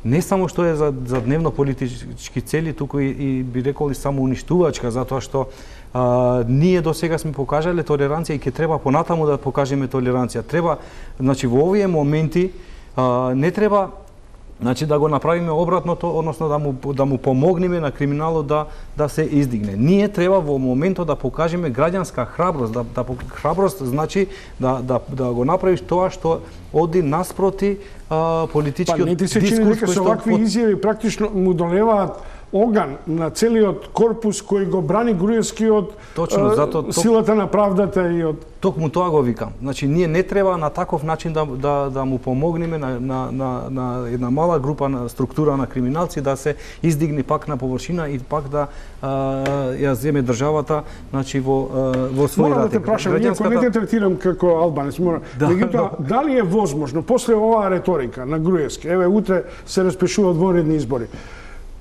не само што е за, за дневно политички цели, туку и, и би рекол и само уништувачка, затоа што а, ние до сега сме покажале толеранција и ќе треба понатаму да покажеме толеранција. Треба, значи во овие моменти а, не треба значи да го направиме обратното, односно да му да му помогнеме на криминалот да да се издигне. Ние треба во моментот да покажеме граѓанска храброст, да да храброст значи да да да го направиш тоа што оди наспроти а, политичкиот па, не ти се чини дека со вакви изјави практично му долеваат оган на целиот корпус кој го брани Груевски од Точно, а, зато, силата на правдата и од Токму тоа го викам. Значи ние не треба на таков начин да да да му помогнеме на на на на една мала група на структура на криминалци да се издигне пак на површина и пак да а, ја земе државата, значи во а, во свој Морам рад. да те прашам, иако не те третирам како албанец, мора. Да. Меѓутоа, дали е возможно после оваа реторика на Груевски, еве утре се распишуваат вонредни избори,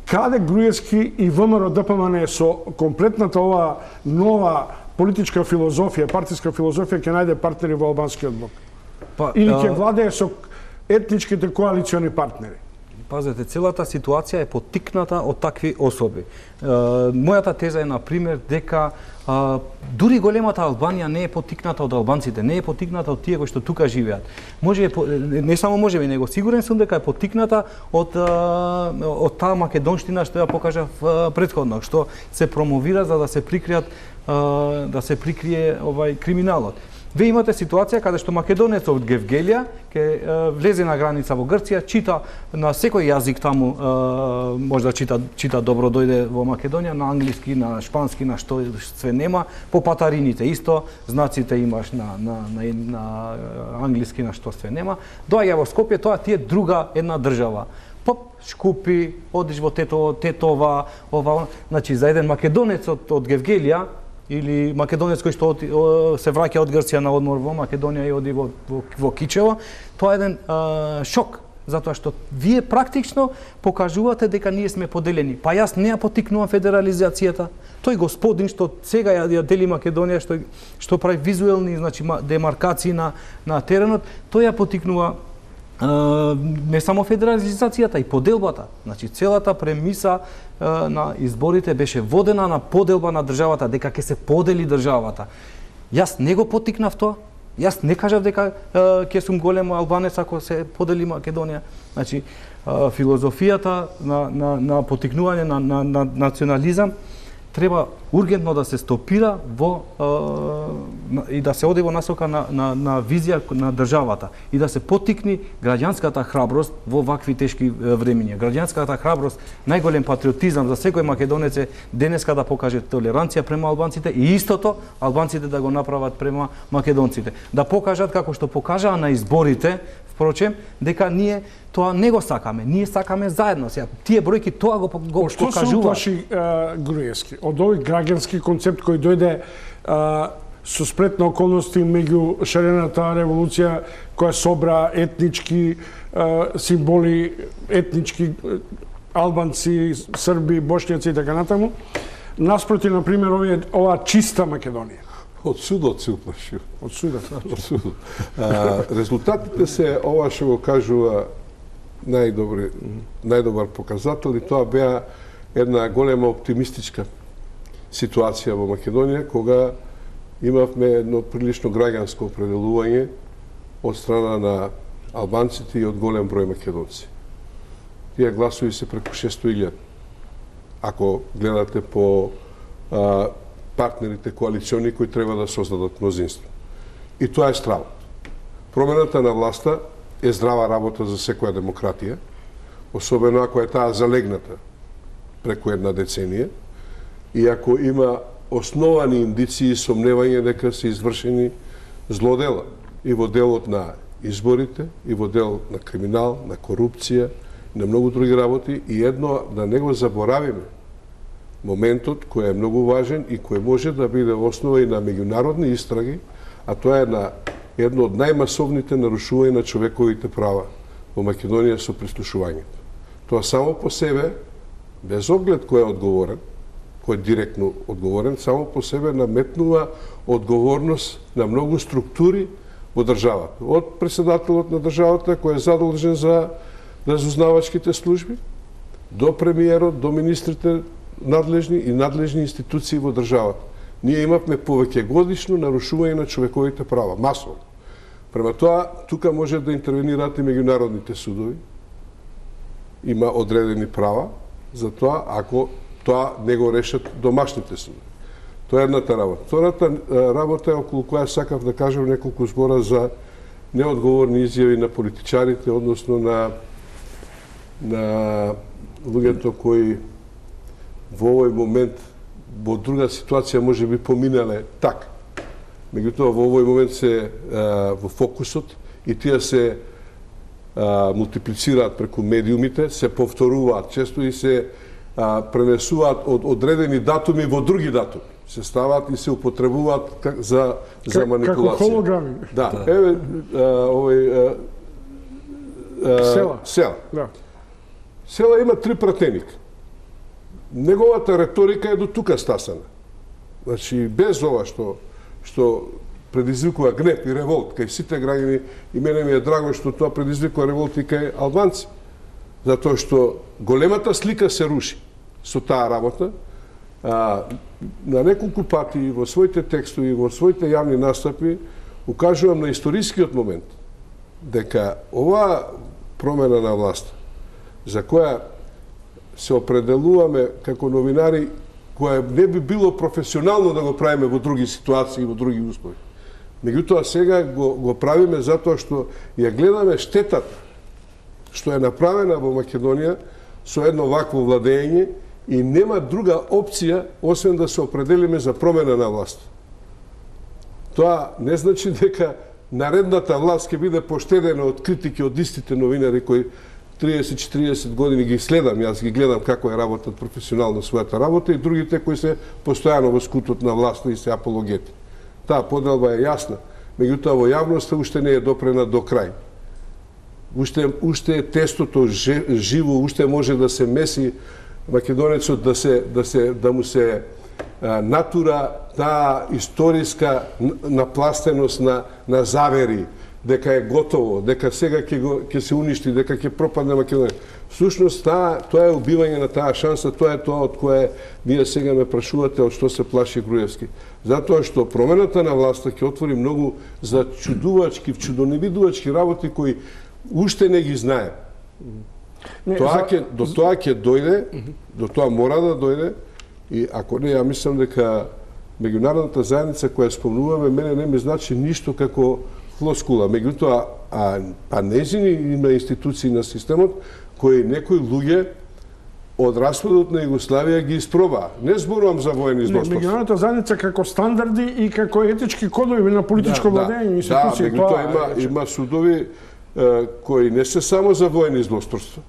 каде Груевски и ВМРО Д П М Н со комплетната оваа нова политичка филозофија, партиска филозофија ќе најде партнери во албанскиот блок? Па, Или ќе а... владее со етничките коалициони партнери? Пазете, целата ситуација е поттикната од такви особи. Е, мојата теза е, например, дека а, дури големата Албанија не е поттикната од албанците, не е поттикната од тие кои што тука живеат. Може, не само може би, него сигурен сум дека е поттикната од, а, од таа македонштина што ја покажав а, претходно, што се промовира за да се прикријат а, да се прикрие овај криминалот. Ве имате ситуација каде што македонец од Гевгелија ќе влезе на граница во Грција, чита на секој јазик таму, е, може да чита чита добро, дојде во Македонија на англиски, на шпански, на што све нема, по патарините исто, знаците имаш на на на, на англиски, на што све нема. Доаѓа во Скопје, тоа ти е друга една држава. Поп, Шкупи, одиш во Тето, Тетова, ова, значи за еден македонец од, од Гевгелија или македонец кој што се враќа од Грција на одмор во Македонија и оди во, во, во Кичево, тоа е еден а, шок, затоа што вие практично покажувате дека ние сме поделени. Па јас не ја поттикнувам федерализацијата. Тој господин што сега ја, ја дели Македонија, што што прави визуелни, значи демаркации на на теренот, тој ја поттикнува не само федерализацијата, и поделбата. Значи целата премиса на изборите беше водена на поделба на државата, дека ќе се подели државата. Јас не го поттикнав тоа. Јас не кажав дека ќе сум голем албанец ако се подели Македонија. Значи филозофијата на на на поттикнување на на, на национализам треба ургентно да се стопира во е, и да се оди во насока на, на, на визија на државата и да се поттикни граѓанската храброст во вакви тешки времиња. Граѓанската храброст, најголем патриотизам за секој македонец е денеска да покаже толеранција према албанците и истото албанците да го направат према македонците. Да покажат како што покажаа на изборите, впрочем, дека ние тоа не го сакаме, ние сакаме заедно. Сега тие бројки тоа го, го Што покажуваат. се уплаши Груевски од овој граѓански концепт кој дојде а, со сплетна околности меѓу шарената револуција која собра етнички а, символи, етнички албанци, срби, бошњаци и така натаму, наспроти, например, овие, оваа чиста Македонија. Од судот се уплаши. Од судот. Од судот. А, резултатите се ова што го кажува најдобри, најдобар показател, и тоа беа една голема оптимистичка ситуација во Македонија, кога имавме едно прилично граѓанско определување од страна на албанците и од голем број македонци. Тие гласови се преку шесто илјади. Ако гледате по а, партнерите коалициони кои треба да создадат мнозинство. И тоа е стравот. Промената на власта е здрава работа за секоја демократија, особено ако е таа залегната преку една деценија, и ако има основани индиции и сомневање дека се извршени злодела и во делот на изборите, и во делот на криминал, на корупција, на многу други работи, и едно да не го заборавиме моментот кој е многу важен и кој може да биде основа и на меѓународни истраги, а тоа е на едно од најмасовните нарушувања на човековите права во Македонија со прислушувањето. Тоа само по себе, без оглед кој е одговорен, кој е директно одговорен, само по себе наметнува одговорност на многу структури во државата. Од председателот на државата кој е задолжен за разузнавачките служби, до премиерот, до министрите надлежни и надлежни институции во државата. Ние имавме повеќе годишно нарушување на човековите права, масово. Према тоа, тука може да интервенираат и меѓународните судови. Има одредени права за тоа, ако тоа не го решат домашните судови. Тоа е едната работа. Втората работа е околу која сакав да кажам неколку збора за неодговорни изјави на политичарите, односно на на луѓето кои во овој момент во друга ситуација може би поминале така. Меѓутоа во овој момент се а, во фокусот и тие се а, мултиплицираат преку медиумите, се повторуваат често и се а, пренесуваат од одредени датуми во други датуми. Се ставаат и се употребуваат как, за, за манипулација. Како холограми. Да, да. Еве а, овој а, а, Села. Села. Да. Села има три пратеника. Неговата реторика е до тука стасана. Значи, без ова што што предизвикува гнев и револт кај сите граѓани, и мене ми е драго што тоа предизвикува револт и кај албанци. Затоа што големата слика се руши со таа работа. А, на неколку пати во своите текстови, во своите јавни настапи, укажувам на историскиот момент дека оваа промена на власт, за која се определуваме како новинари, која не би било професионално да го правиме во други ситуации, во други услови. Меѓутоа сега го, го правиме затоа што ја гледаме штетата што е направена во Македонија со едно вакво владење и нема друга опција освен да се определиме за промена на власт. Тоа не значи дека наредната власт ќе биде поштедена од критики од истите новинари кои триесет четириесет години ги следам, јас ги гледам како е работат професионално својата работа, и другите кои се постојано во скутот на власта и се апологети. Таа поделба е јасна, меѓутоа во јавноста уште не е допрена до крај. Уште, уште е тестото живо, уште може да се меси македонецот, да се да се да му се а, натура таа историска напластеност на на завери, дека е готово, дека сега ќе го ќе се уништи, дека ќе пропадне Македонија. Всушност таа тоа е убивање на таа шанса, тоа е тоа од кое вие сега ме прашувате од што се плаши Груевски. Затоа што промената на власта ќе отвори многу за чудувачки, чудоневидувачки работи кои уште не ги знае. Не, тоа ќе до тоа ќе дојде, до тоа мора да дојде, и ако не, ја мислам дека меѓународната заедница која спомнуваме, мене не ми значи ништо како флоскула. Меѓутоа, а, а незини има институции на системот кои некои луѓе од распадот на Југославија ги испробаа. Не зборувам за воени злосторства. Меѓународната заедница како стандарди и како етички кодови на политичко да, владење, институции. Да, меѓутоа има, има судови е, кои не се само за воени злосторства.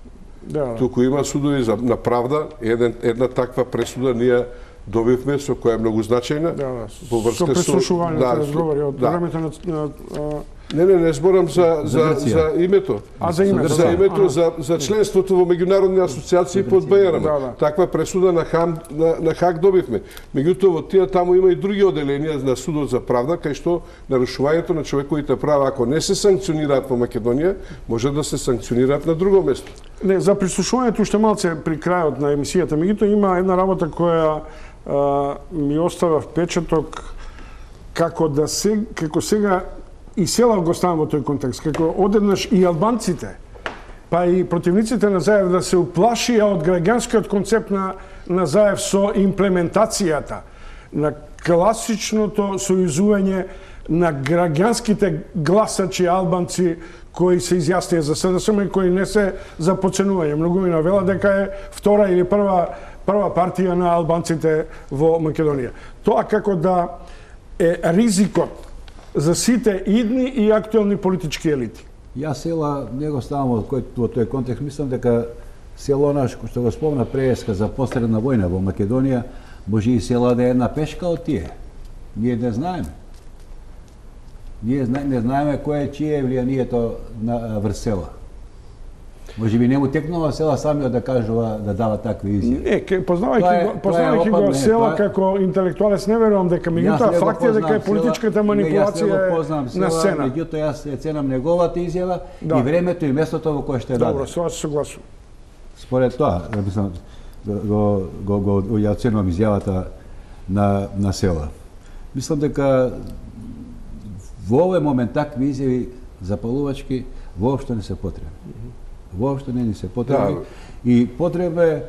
Да, да. Туку има судови за, на правда. Еден, една таква пресуда ние добивме, со која е многу значајна. Да, да. Со прислушувањето да, разговори од да. времето на, на Не, не, не зборам за, за, за името. А за името? За името, за, за членството во меѓународни асоциации под БРМ. Да, да. Таква пресуда на, Хам, на, на Хаг добивме. Меѓутоа, во тие таму има и други оделенија на судот за правда, кај што нарушувањето на човековите права, ако не се санкционираат во Македонија, може да се санкционираат на друго место. Не, за прислушувањето уште малце при крајот на емисијата. Меѓутоа, има една работа која а, ми остава впечаток како да се, како сега и Села го ставам во тој контекст, како одеднаш и албанците, па и противниците на Заев да се уплашија од граѓанскиот концепт на, на Заев со имплементацијата на класичното сојузување на граѓанските гласачи албанци кои се изјаснија за СДСМ и кои не се за подценување. Многу ми навела дека е втора или прва, прва партија на албанците во Македонија. Тоа како да е ризикот за сите идни и актуелни политички елити. Јас Села не го ставам во, во тој контекст. Мислам дека Село наш, што го спомна преска за посредна војна во Македонија, може и Села да е една пешка од тие. Ние не знаеме. Ние не знаеме кој е чие влијанието на врз Села. Може би не му текнува Села самиот да кажува, да дава такви изјави. Не, познавајќи го, познавајќи го Села тоа... како интелектуалец, не верувам дека меѓутоа факт е дека е политичката манипулација на сцена. Меѓутоа јас ја ценам неговата изјава да. И времето и местото во кое што е Добро, со се согласувам. Според тоа, мислам, го го го, го ја ценувам изјавата на на Села. Мислам дека во овој момент такви изјави запалувачки воопшто не се потребни. Воопшто не ни се потребни. Да. И потребно е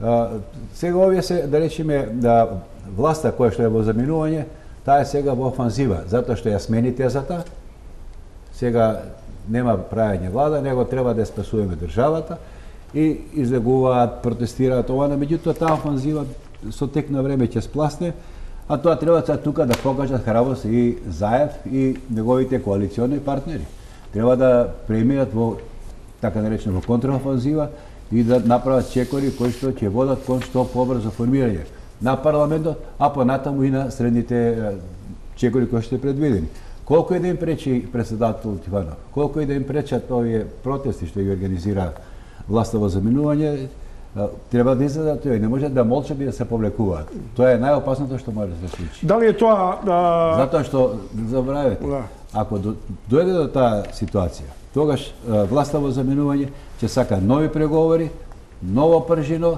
а, сега овие се, да речеме, да власта која што е во заминување, таа е сега во офанзива, затоа што ја смени тезата. Сега нема правење влада, него треба да ја спасуваме државата и излегуваат, протестираат ова, меѓутоа таа офанзива со тек на време ќе спласне, а тоа треба сега тука да покажат храброст и Заев и неговите коалициони партнери. Треба да преминат во така наречено во контраофанзива и да направат чекори кои што ќе водат кон што побрзо формирање на парламентот, а понатаму и на средните чекори кои што е предвидени. Колку и да им пречи председател Тиванов, колку и да им пречат овие протести што ги организира власта во заминување, треба да изгледа тоа, не може да молчат и да се повлекуваат. Тоа е најопасното што може да се случи. Дали е тоа... Да... Затоа што, забравете, Да. ако до, дојде до таа ситуација, тогаш власта во заминување ќе сака нови преговори, ново пржино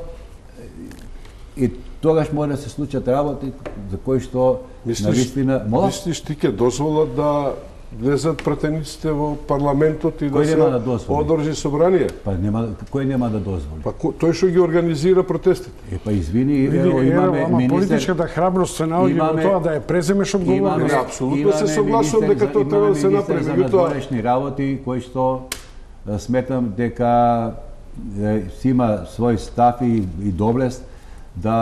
и тогаш може да се случат работи за кои што навистина... Мислиш ти ќе дозволат да влезат пратениците во парламентот и да Кој се нема да дозволи? одржи собрание? Па нема, кој нема да дозволи? Па ко- тој што ги организира протестите. Е, па извини, Види, ево, ево, имаме ама министер... политичката храброст се наоѓа во имаме- тоа да ја преземеш одговорност. Имаме- апсолутно се согласувам министер дека за- тоа треба да се имаме направи, министер меѓутоа- за надворешни работи кој што е, сметам дека е, си има свој став и, и доблест да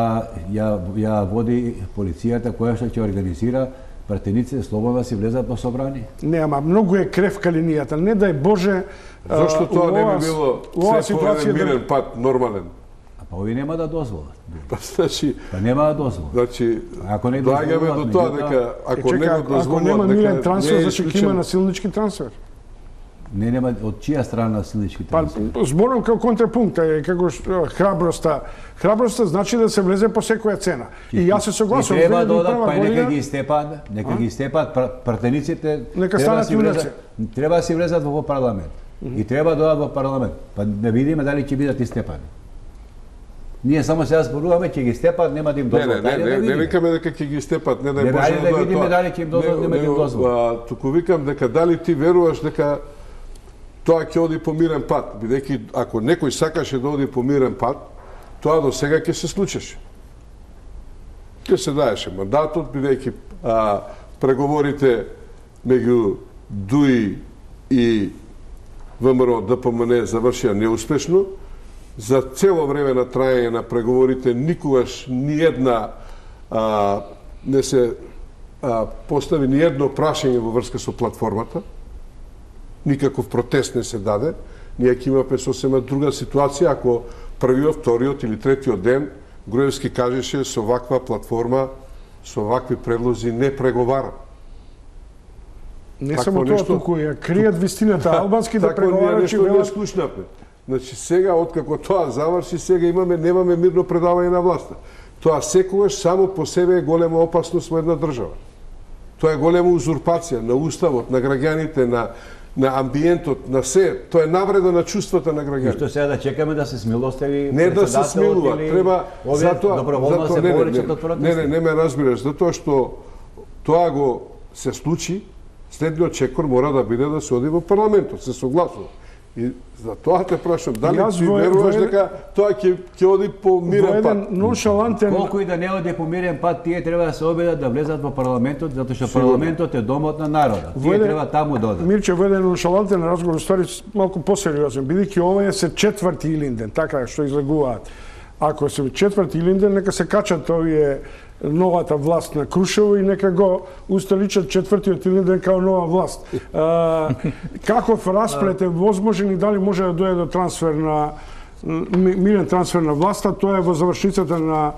ја, ја води полицијата која што ќе организира пратениците слободно да си влезат во собрание. Не, ама многу е кревка линијата. Не дај Боже... а, Зошто тоа не ова- би било ова се по ситуација еден да- мирен пат, нормален? А па овие нема да дозволат. Па значи, Па нема да дозволат. значи Ако не доаѓаме дозволат, до тоа меѓутоа- дека Е, ако чека, не го ако, ако дозволат нема дека мирен не трансфер, е зашто ќе има исклучен. насилнички трансфер? Не нема од чија страна силничките Па, трансфери? зборам како контрапункт, е како што, храброста. Храброста значи да се влезе по секоја цена. И јас се согласувам. И треба да две илјади и одат, прва па и нека година- ги степат, нека ги степат пр- пратениците. Нека треба да станат си влезат- јунаци. Треба да си влезат во парламент. И треба да одат во парламент. Па да видиме дали ќе бидат истепани. Ние само сега зборуваме ќе ги степат, нема да им Не, не, дозволат. не, Ајде да не, не видиме. викаме дека ќе ги степат, не дај Не, Боже ајде да дое видиме тоа. дали ќе им дозволат, нема да им дозволат. а, Туку викам дека дали ти веруваш дека тоа ќе оди по мирен пат, бидејќи ако некој сакаше да оди по мирен пат, тоа до сега ќе се случеше. Ќе се даеше мандатот, бидејќи а, преговорите меѓу ДУИ и ВМРО ДПМН завршија неуспешно. За цело време на трајање на преговорите никогаш ни една а, не се а, постави ни едно прашање во врска со платформата. Никаков протест не се даде. Ние ќе имаме сосема друга ситуација ако првиот, вториот или третиот ден Груевски кажеше со ваква платформа, со вакви предлози не преговара. Не Такво само тоа, нешто- туку ја кријат вистината. Албанските Такво ние преговарачи нешто не велат слушнавме. Значи сега откако тоа заврши, сега имаме немаме мирно предавање на власта. Тоа секогаш само по себе е голема опасност во една држава. Тоа е голема узурпација на уставот, на граѓаните, на на амбиентот, на се. Тоа е навреда на чувствата на И граѓаните. што сега да чекаме да се смилостави Не да се председателот смилува, или треба овие затоа доброволно затоа се не, не, повлечат не, од протести. не, не, не ме разбираш, затоа што тоа го се случи, следниот чекор мора да биде да се оди во парламентот, се согласува. И за тоа те прашам, дали Јас ти во- веруваш во еден- дека тоа ќе ќе оди по во мирен еден пат? ноншалантен... Колку и да не оди по мирен пат, тие треба да се обидат да влезат во парламентот, затоа што парламентот е домот на народот. Тие Во еден- треба таму да одат. Мирче, во еден ноншалантен разговор, ствари малку посериозен, бидејќи ова е се четврти Илинден, така што излегуваат. Ако се четврти Илинден, нека се качат овие новата власт на Крушево и нека го усталичат четвртиот Илинден као нова власт. А, каков расплет е возможен и дали може да дојде до трансфер на ми- мирен трансфер на власта, тоа е во завршницата на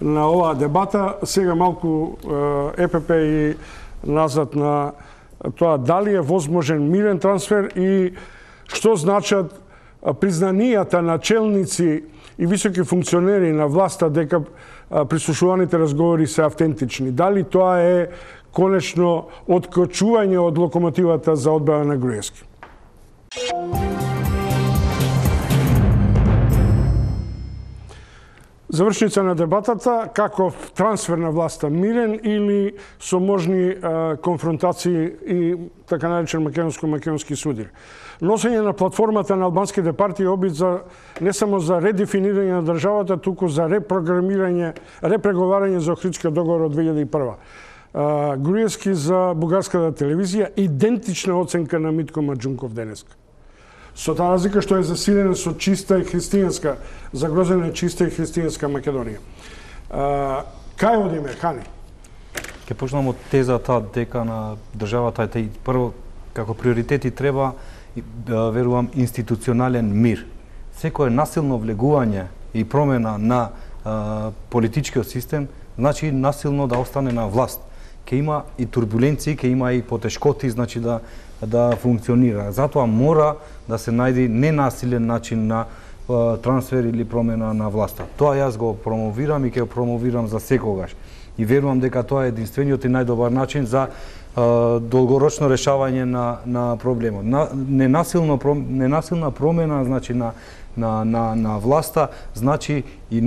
на оваа дебата. Сега малку е, ЕПП и назад на тоа дали е возможен мирен трансфер и што значат а, признанијата на челници и високи функционери на власта дека а, прислушуваните разговори се автентични. Дали тоа е конечно откочување од локомотивата за одбрана на Груевски? Завршница на дебатата, каков трансфер на власта, мирен или со можни а, конфронтации и така наречен македонско-македонски судир. Носење на платформата на албанските партии обид за не само за редефинирање на државата, туку за репрограмирање, репреговарање за Охридскиот договор од две илјади и прва. А, Груевски за бугарската телевизија, идентична оценка на Митко Маџунков денеска. Со таа разлика што е засилена со чиста и христијанска, загрозена е чиста и христијанска Македонија. А, кај одиме, Хани? Ке почнам од тезата дека на државата е прво како приоритети треба, верувам, институционален мир. Секое насилно влегување и промена на а, политичкиот систем значи насилно да остане на власт. Ке има и турбуленции, ке има и потешкоти, значи да да функционира. Затоа мора да се најде ненасилен начин на а, трансфер или промена на власта. Тоа јас го промовирам и ќе го промовирам за секогаш. И верувам дека тоа е единствениот и најдобар начин за а, долгорочно решавање на на проблемот. На, ненасилно ненасилна промена, значи на на на на власта, значи и, е,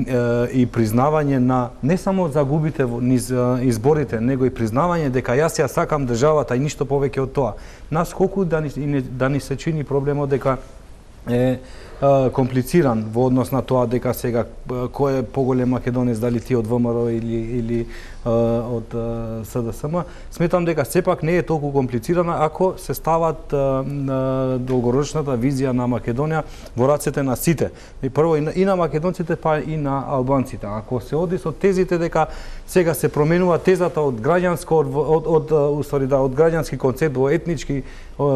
и признавање на не само загубите низ изборите, него и признавање дека јас ја сакам државата и ништо повеќе од тоа. Нас колку да ни да ни се чини проблемот дека е комплициран во однос на тоа дека сега кој е поголем македонец, дали ти од ВМРО или или од СДСМ, сметам дека сепак не е толку комплицирана ако се стават долгорочната визија на Македонија во рацете на сите. И прво и на, и на македонците, па и на албанците. Ако се оди со тезите дека сега се променува тезата од граѓанско од од, од, од, да, од граѓански концепт во етнички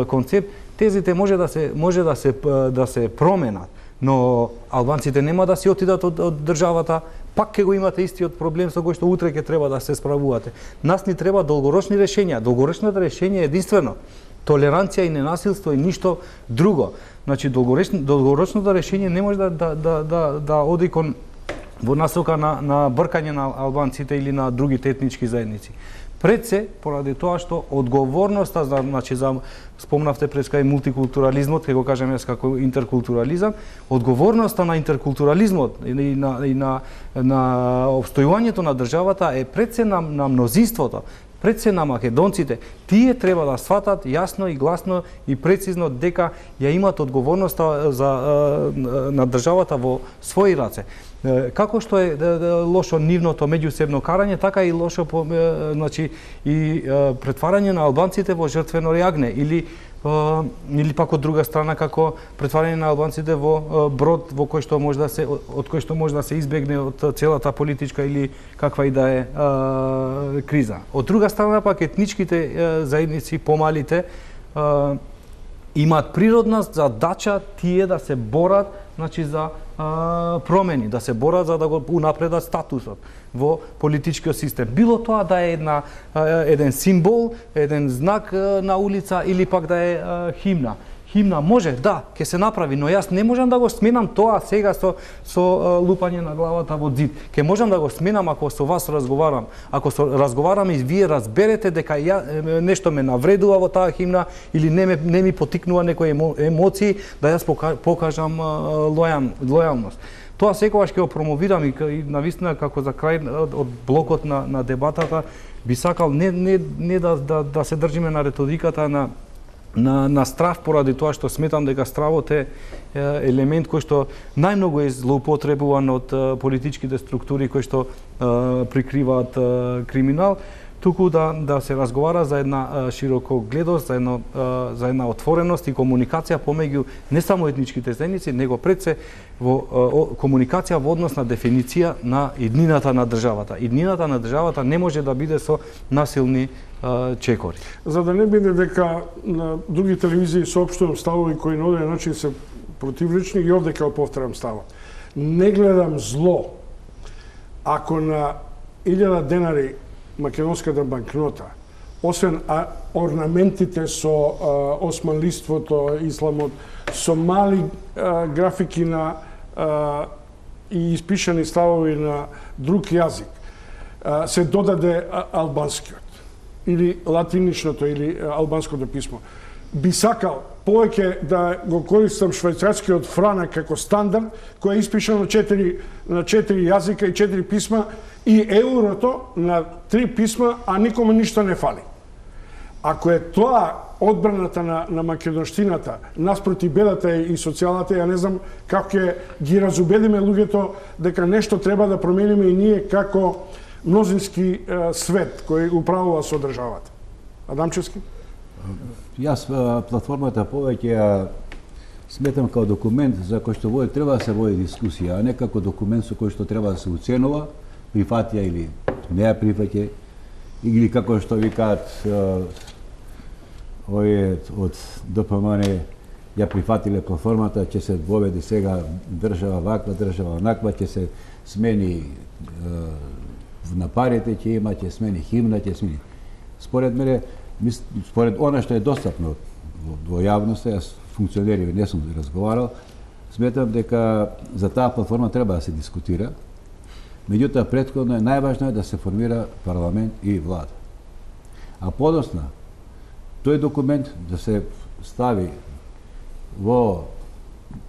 концепт, тезите може да се може да се да се променат, но албанците нема да си отидат од, од државата, пак ќе го имате истиот проблем со кој што утре ќе треба да се справувате. Нас ни треба долгорочни решења. Долгорочното решење е единствено толеранција и ненасилство и ништо друго. Значи долгорочно, долгорочното решење не може да да да да, да оди кон во насока на на бркање на албанците или на другите етнички заедници. Пред се, поради тоа што одговорноста за, значи за спомнавте преска и мултикултурализмот, ќе го кажам јас како интеркултурализам, одговорноста на интеркултурализмот и на и на на обстојувањето на државата е пред се на, на мнозинството, пред се на македонците. Тие треба да сватат јасно и гласно и прецизно дека ја имат одговорноста за на државата во своји раце. Како што е лошо нивното меѓусебно карање, така и лошо значи и претварање на албанците во жртвено јагне или или пак од друга страна како претварање на албанците во брод во кој што може да се од кој што може да се избегне од целата политичка или каква и да е а, криза. Од друга страна пак етничките а, заедници, помалите, а, имаат природна задача тие да се борат, значи за а, промени, да се борат за да го унапредат статусот во политичкиот систем. Било тоа да е една а, еден символ, еден знак а, на улица или пак да е а, химна. Химна може, да, ќе се направи, но јас не можам да го сменам тоа сега со со а, лупање на главата во зид. Ќе можам да го сменам ако со вас разговарам. Ако со разговарам и вие разберете дека ја нешто ме навредува во таа химна или не ме не ми потикнува некои емоции, да јас покажам лојам, лојалност. Тоа секогаш ќе го промовирам и, и навистина како за крај од, од блокот на на дебатата би сакал не не не да да, да се држиме на риториката на на на страв, поради тоа што сметам дека стравот е елемент кој што најмногу е злоупотребуван од политичките структури кои што прикриваат криминал, туку да да се разговара за една широко гледост, за едно за една отвореност и комуникација помеѓу не само етничките заедници, него пред се во комуникација во однос на дефиниција на иднината на државата. Иднината на државата не може да биде со насилни чекори. За да не биде дека на други телевизии соопштувам ставови кои на одреден начин се противлични, и овде ќе повторам ставот. Не гледам зло ако на илјада денари македонската банкнота, освен а, орнаментите со а, османлиството, исламот, со мали а, графики на а, и испишани ставови на друг јазик, а, се додаде а, албанскиот или латиничното или а, албанското писмо. Би сакал повеќе да го користам швајцарскиот франак како стандард, кој е испишан на четири на четири јазика и четири писма, и еврото на три писма, а никому ништо не фали. Ако е тоа одбраната на, на македонштината наспроти бедата и социјалната, ја не знам како ќе ги разубедиме луѓето дека нешто треба да промениме и ние како мнозински е, свет кој управува со државата. Адамчевски? Јас платформата повеќе ја сметам како документ за кој што води треба да се води дискусија, а не како документ со кој што треба да се оценува, прифатија или не ја прифаќа, или како што викаат овие од Д П М Н ја прифатиле платформата, ќе се воведе сега држава ваква, држава онаква, ќе се смени на парите, ќе има, ќе смени химна, ќе смени. Според мене, според она што е достапно во јавноста, јас функционери не сум разговарал, сметам дека за таа платформа треба да се дискутира. Меѓутоа, претходно е најважно е да се формира парламент и влада. А подосна, тој документ да се стави во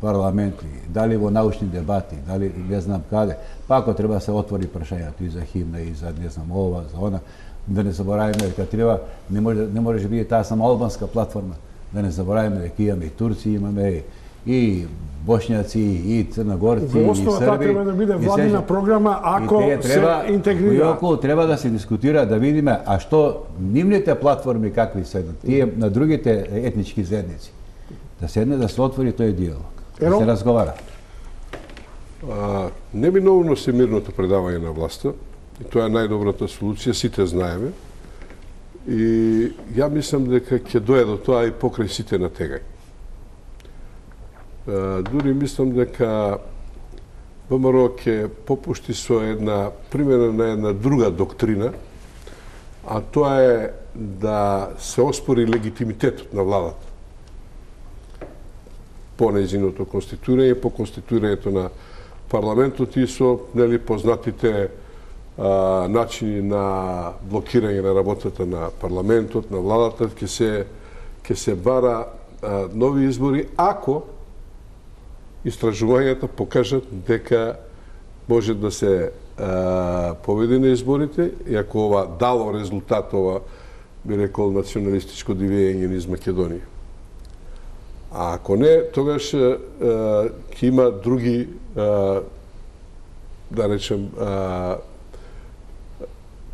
парламенти, дали во научни дебати, дали не знам каде, па ако треба да се отвори прашањето и за химна, и за не знам ова, за она, да не заборавиме дека треба, не може, не може да биде таа само албанска платформа, да не заборавиме дека имаме и турци, имаме и бошњаци, и црногорци, и Во срби. основа таа треба да биде владина програма ако треба, се интегрира. Околу треба да се дискутира, да видиме, а што нивните платформи какви се, тие на другите етнички заедници. Да седне да се отвори тој диалог, да се разговара. А, неминовно се мирното предавање на власта, и тоа е најдобрата солуција, сите знаеме. И ја мислам дека ќе дое до тоа и покрај сите на тегај. А, дури мислам дека В М Р ќе попушти со една примена на една друга доктрина, а тоа е да се оспори легитимитетот на владата по нејзиното конституирање, по конституирањето на парламентот и со нели познатите а, начини на блокирање на работата на парламентот, на владата, ќе се ќе се бара а, нови избори ако истражувањата покажат дека може да се а, победи на изборите и ако ова дало резултат, ова би рекол националистичко дивење низ Македонија. А ако не, тогаш ќе има други, а, да речем, а,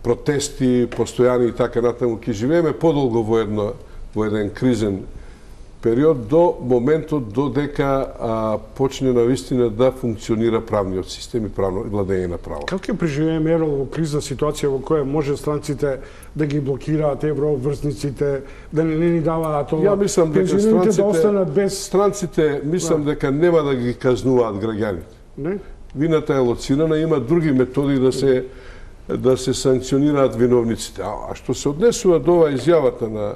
протести, постојани и така натаму. Ќе живееме подолго во, едно, во еден кризен период до моментот додека а, почне навистина да функционира правниот систем и правно владење на право. Како ќе преживееме Ерол во кризна ситуација во која може странците да ги блокираат еврообврзниците, да не, не ни даваат ова? Ја мислам дека пензионерите да останат странците, без... странците мислам Да. дека нема да ги казнуваат граѓаните. Не? Вината е лоцирана, има други методи да се да се санкционираат виновниците. А, а што се однесува до ова изјавата на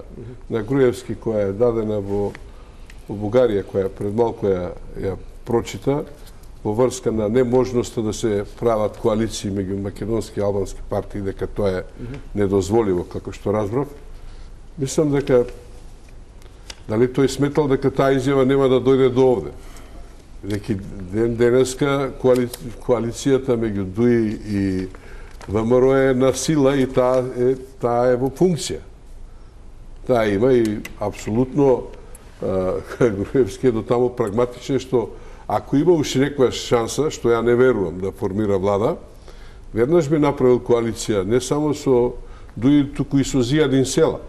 на Груевски која е дадена во во Бугарија, која пред малку ја, ја прочита во врска на неможноста да се прават коалиции меѓу македонски и албански партии, дека тоа е недозволиво, како што разбрав. Мислам дека дали тој сметал дека таа изјава нема да дојде до овде. Дека ден денеска коали... коалицијата меѓу ДУИ и В М Р е на сила и таа е, таа е во функција. Таа има и апсолутно Груевски е до таму прагматичен што ако има уште некоја шанса, што ја не верувам да формира влада, веднаш би направил коалиција не само со ДУИ, туку и со Зијадин Села.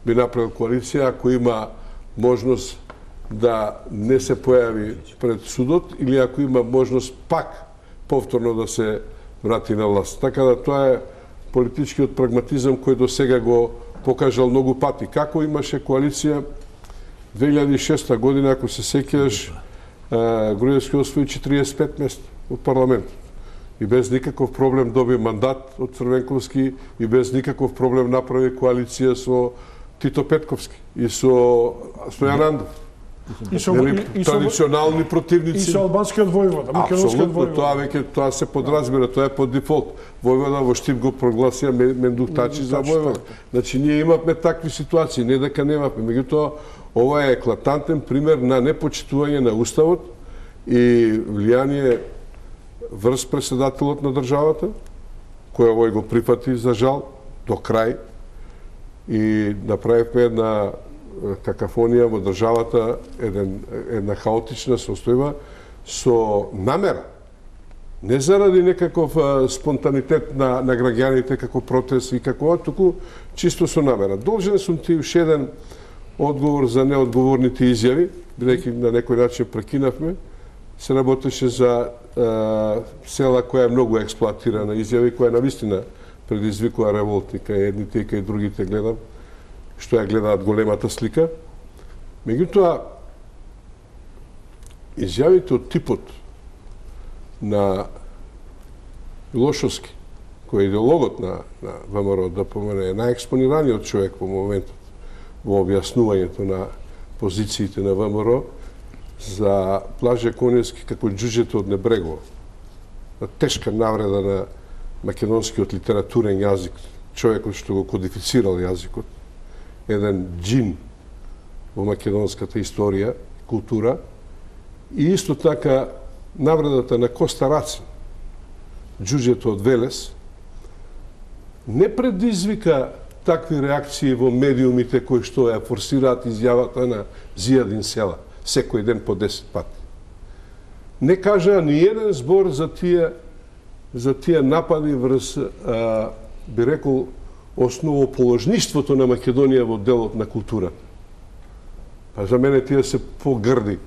Би направил коалиција ако има можност да не се појави пред судот или ако има можност пак повторно да се врати на власт. Така да тоа е политичкиот прагматизам кој до сега го покажал многу пати. Како имаше коалиција две илјади и шеста година, ако се сеќаш, Груевски освои четиридесет и пет места во парламентот. И без никаков проблем доби мандат од Црвенковски и без никаков проблем направи коалиција со Тито Петковски и со Стојан Андов. И со, Нели, и, и со, традиционални противници. и со албанскиот војвода, македонскиот Апсолутно, војвода. тоа веќе тоа се подразбира, тоа е по дефолт. Војвода во Штип го прогласија Мендук Тачи за војвода. Значи ние имавме такви ситуации, не дека немавме. Меѓутоа, ова е еклатантен пример на непочитување на уставот и влијание врз председателот на државата, кој овој го прифати за жал до крај и направивме една какафонија во државата, еден, една хаотична состојба со намера. Не заради некаков а, спонтанитет на, на граѓаните како протест и како ова, туку чисто со намера. Должен сум ти уште еден одговор за неодговорните изјави, бидејќи на некој начин прекинавме, се работеше за е, села која е многу експлоатирана изјави, која навистина предизвикува револт и кај едните и кај другите гледам, што ја гледаат големата слика. Меѓутоа, изјавите од типот на Милошовски, кој е идеологот на, на ВМРО, да помене, е најекспонираниот човек во моментот во објаснувањето на позициите на ВМРО, за Блаже Коневски како џуџето од Небрегово, на тешка навреда на македонскиот литературен јазик, човекот што го кодифицирал јазикот, еден џин во македонската историја, култура, и исто така навредата на Коста Рацин, џуџето од Велес, не предизвика такви реакции во медиумите кои што ја форсираат изјавата на Зијадин Села, секој ден по десет пати. Не кажа ни еден збор за тие за тие напади врз, а, би рекол, основоположништвото на Македонија во делот на културата. Па за мене тие се погрди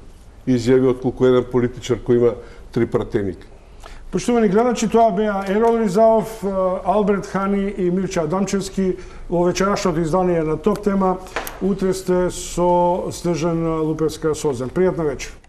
изјави отколку еден политичар кој има три пратеника. Поштовани гледачи, тоа беа Ерол Ризаов, Алберт Хани и Мирче Адамчевски во вечерашното издание на Топ тема. Утре сте со Снежана Лупевска Созен. Пријатна вечер.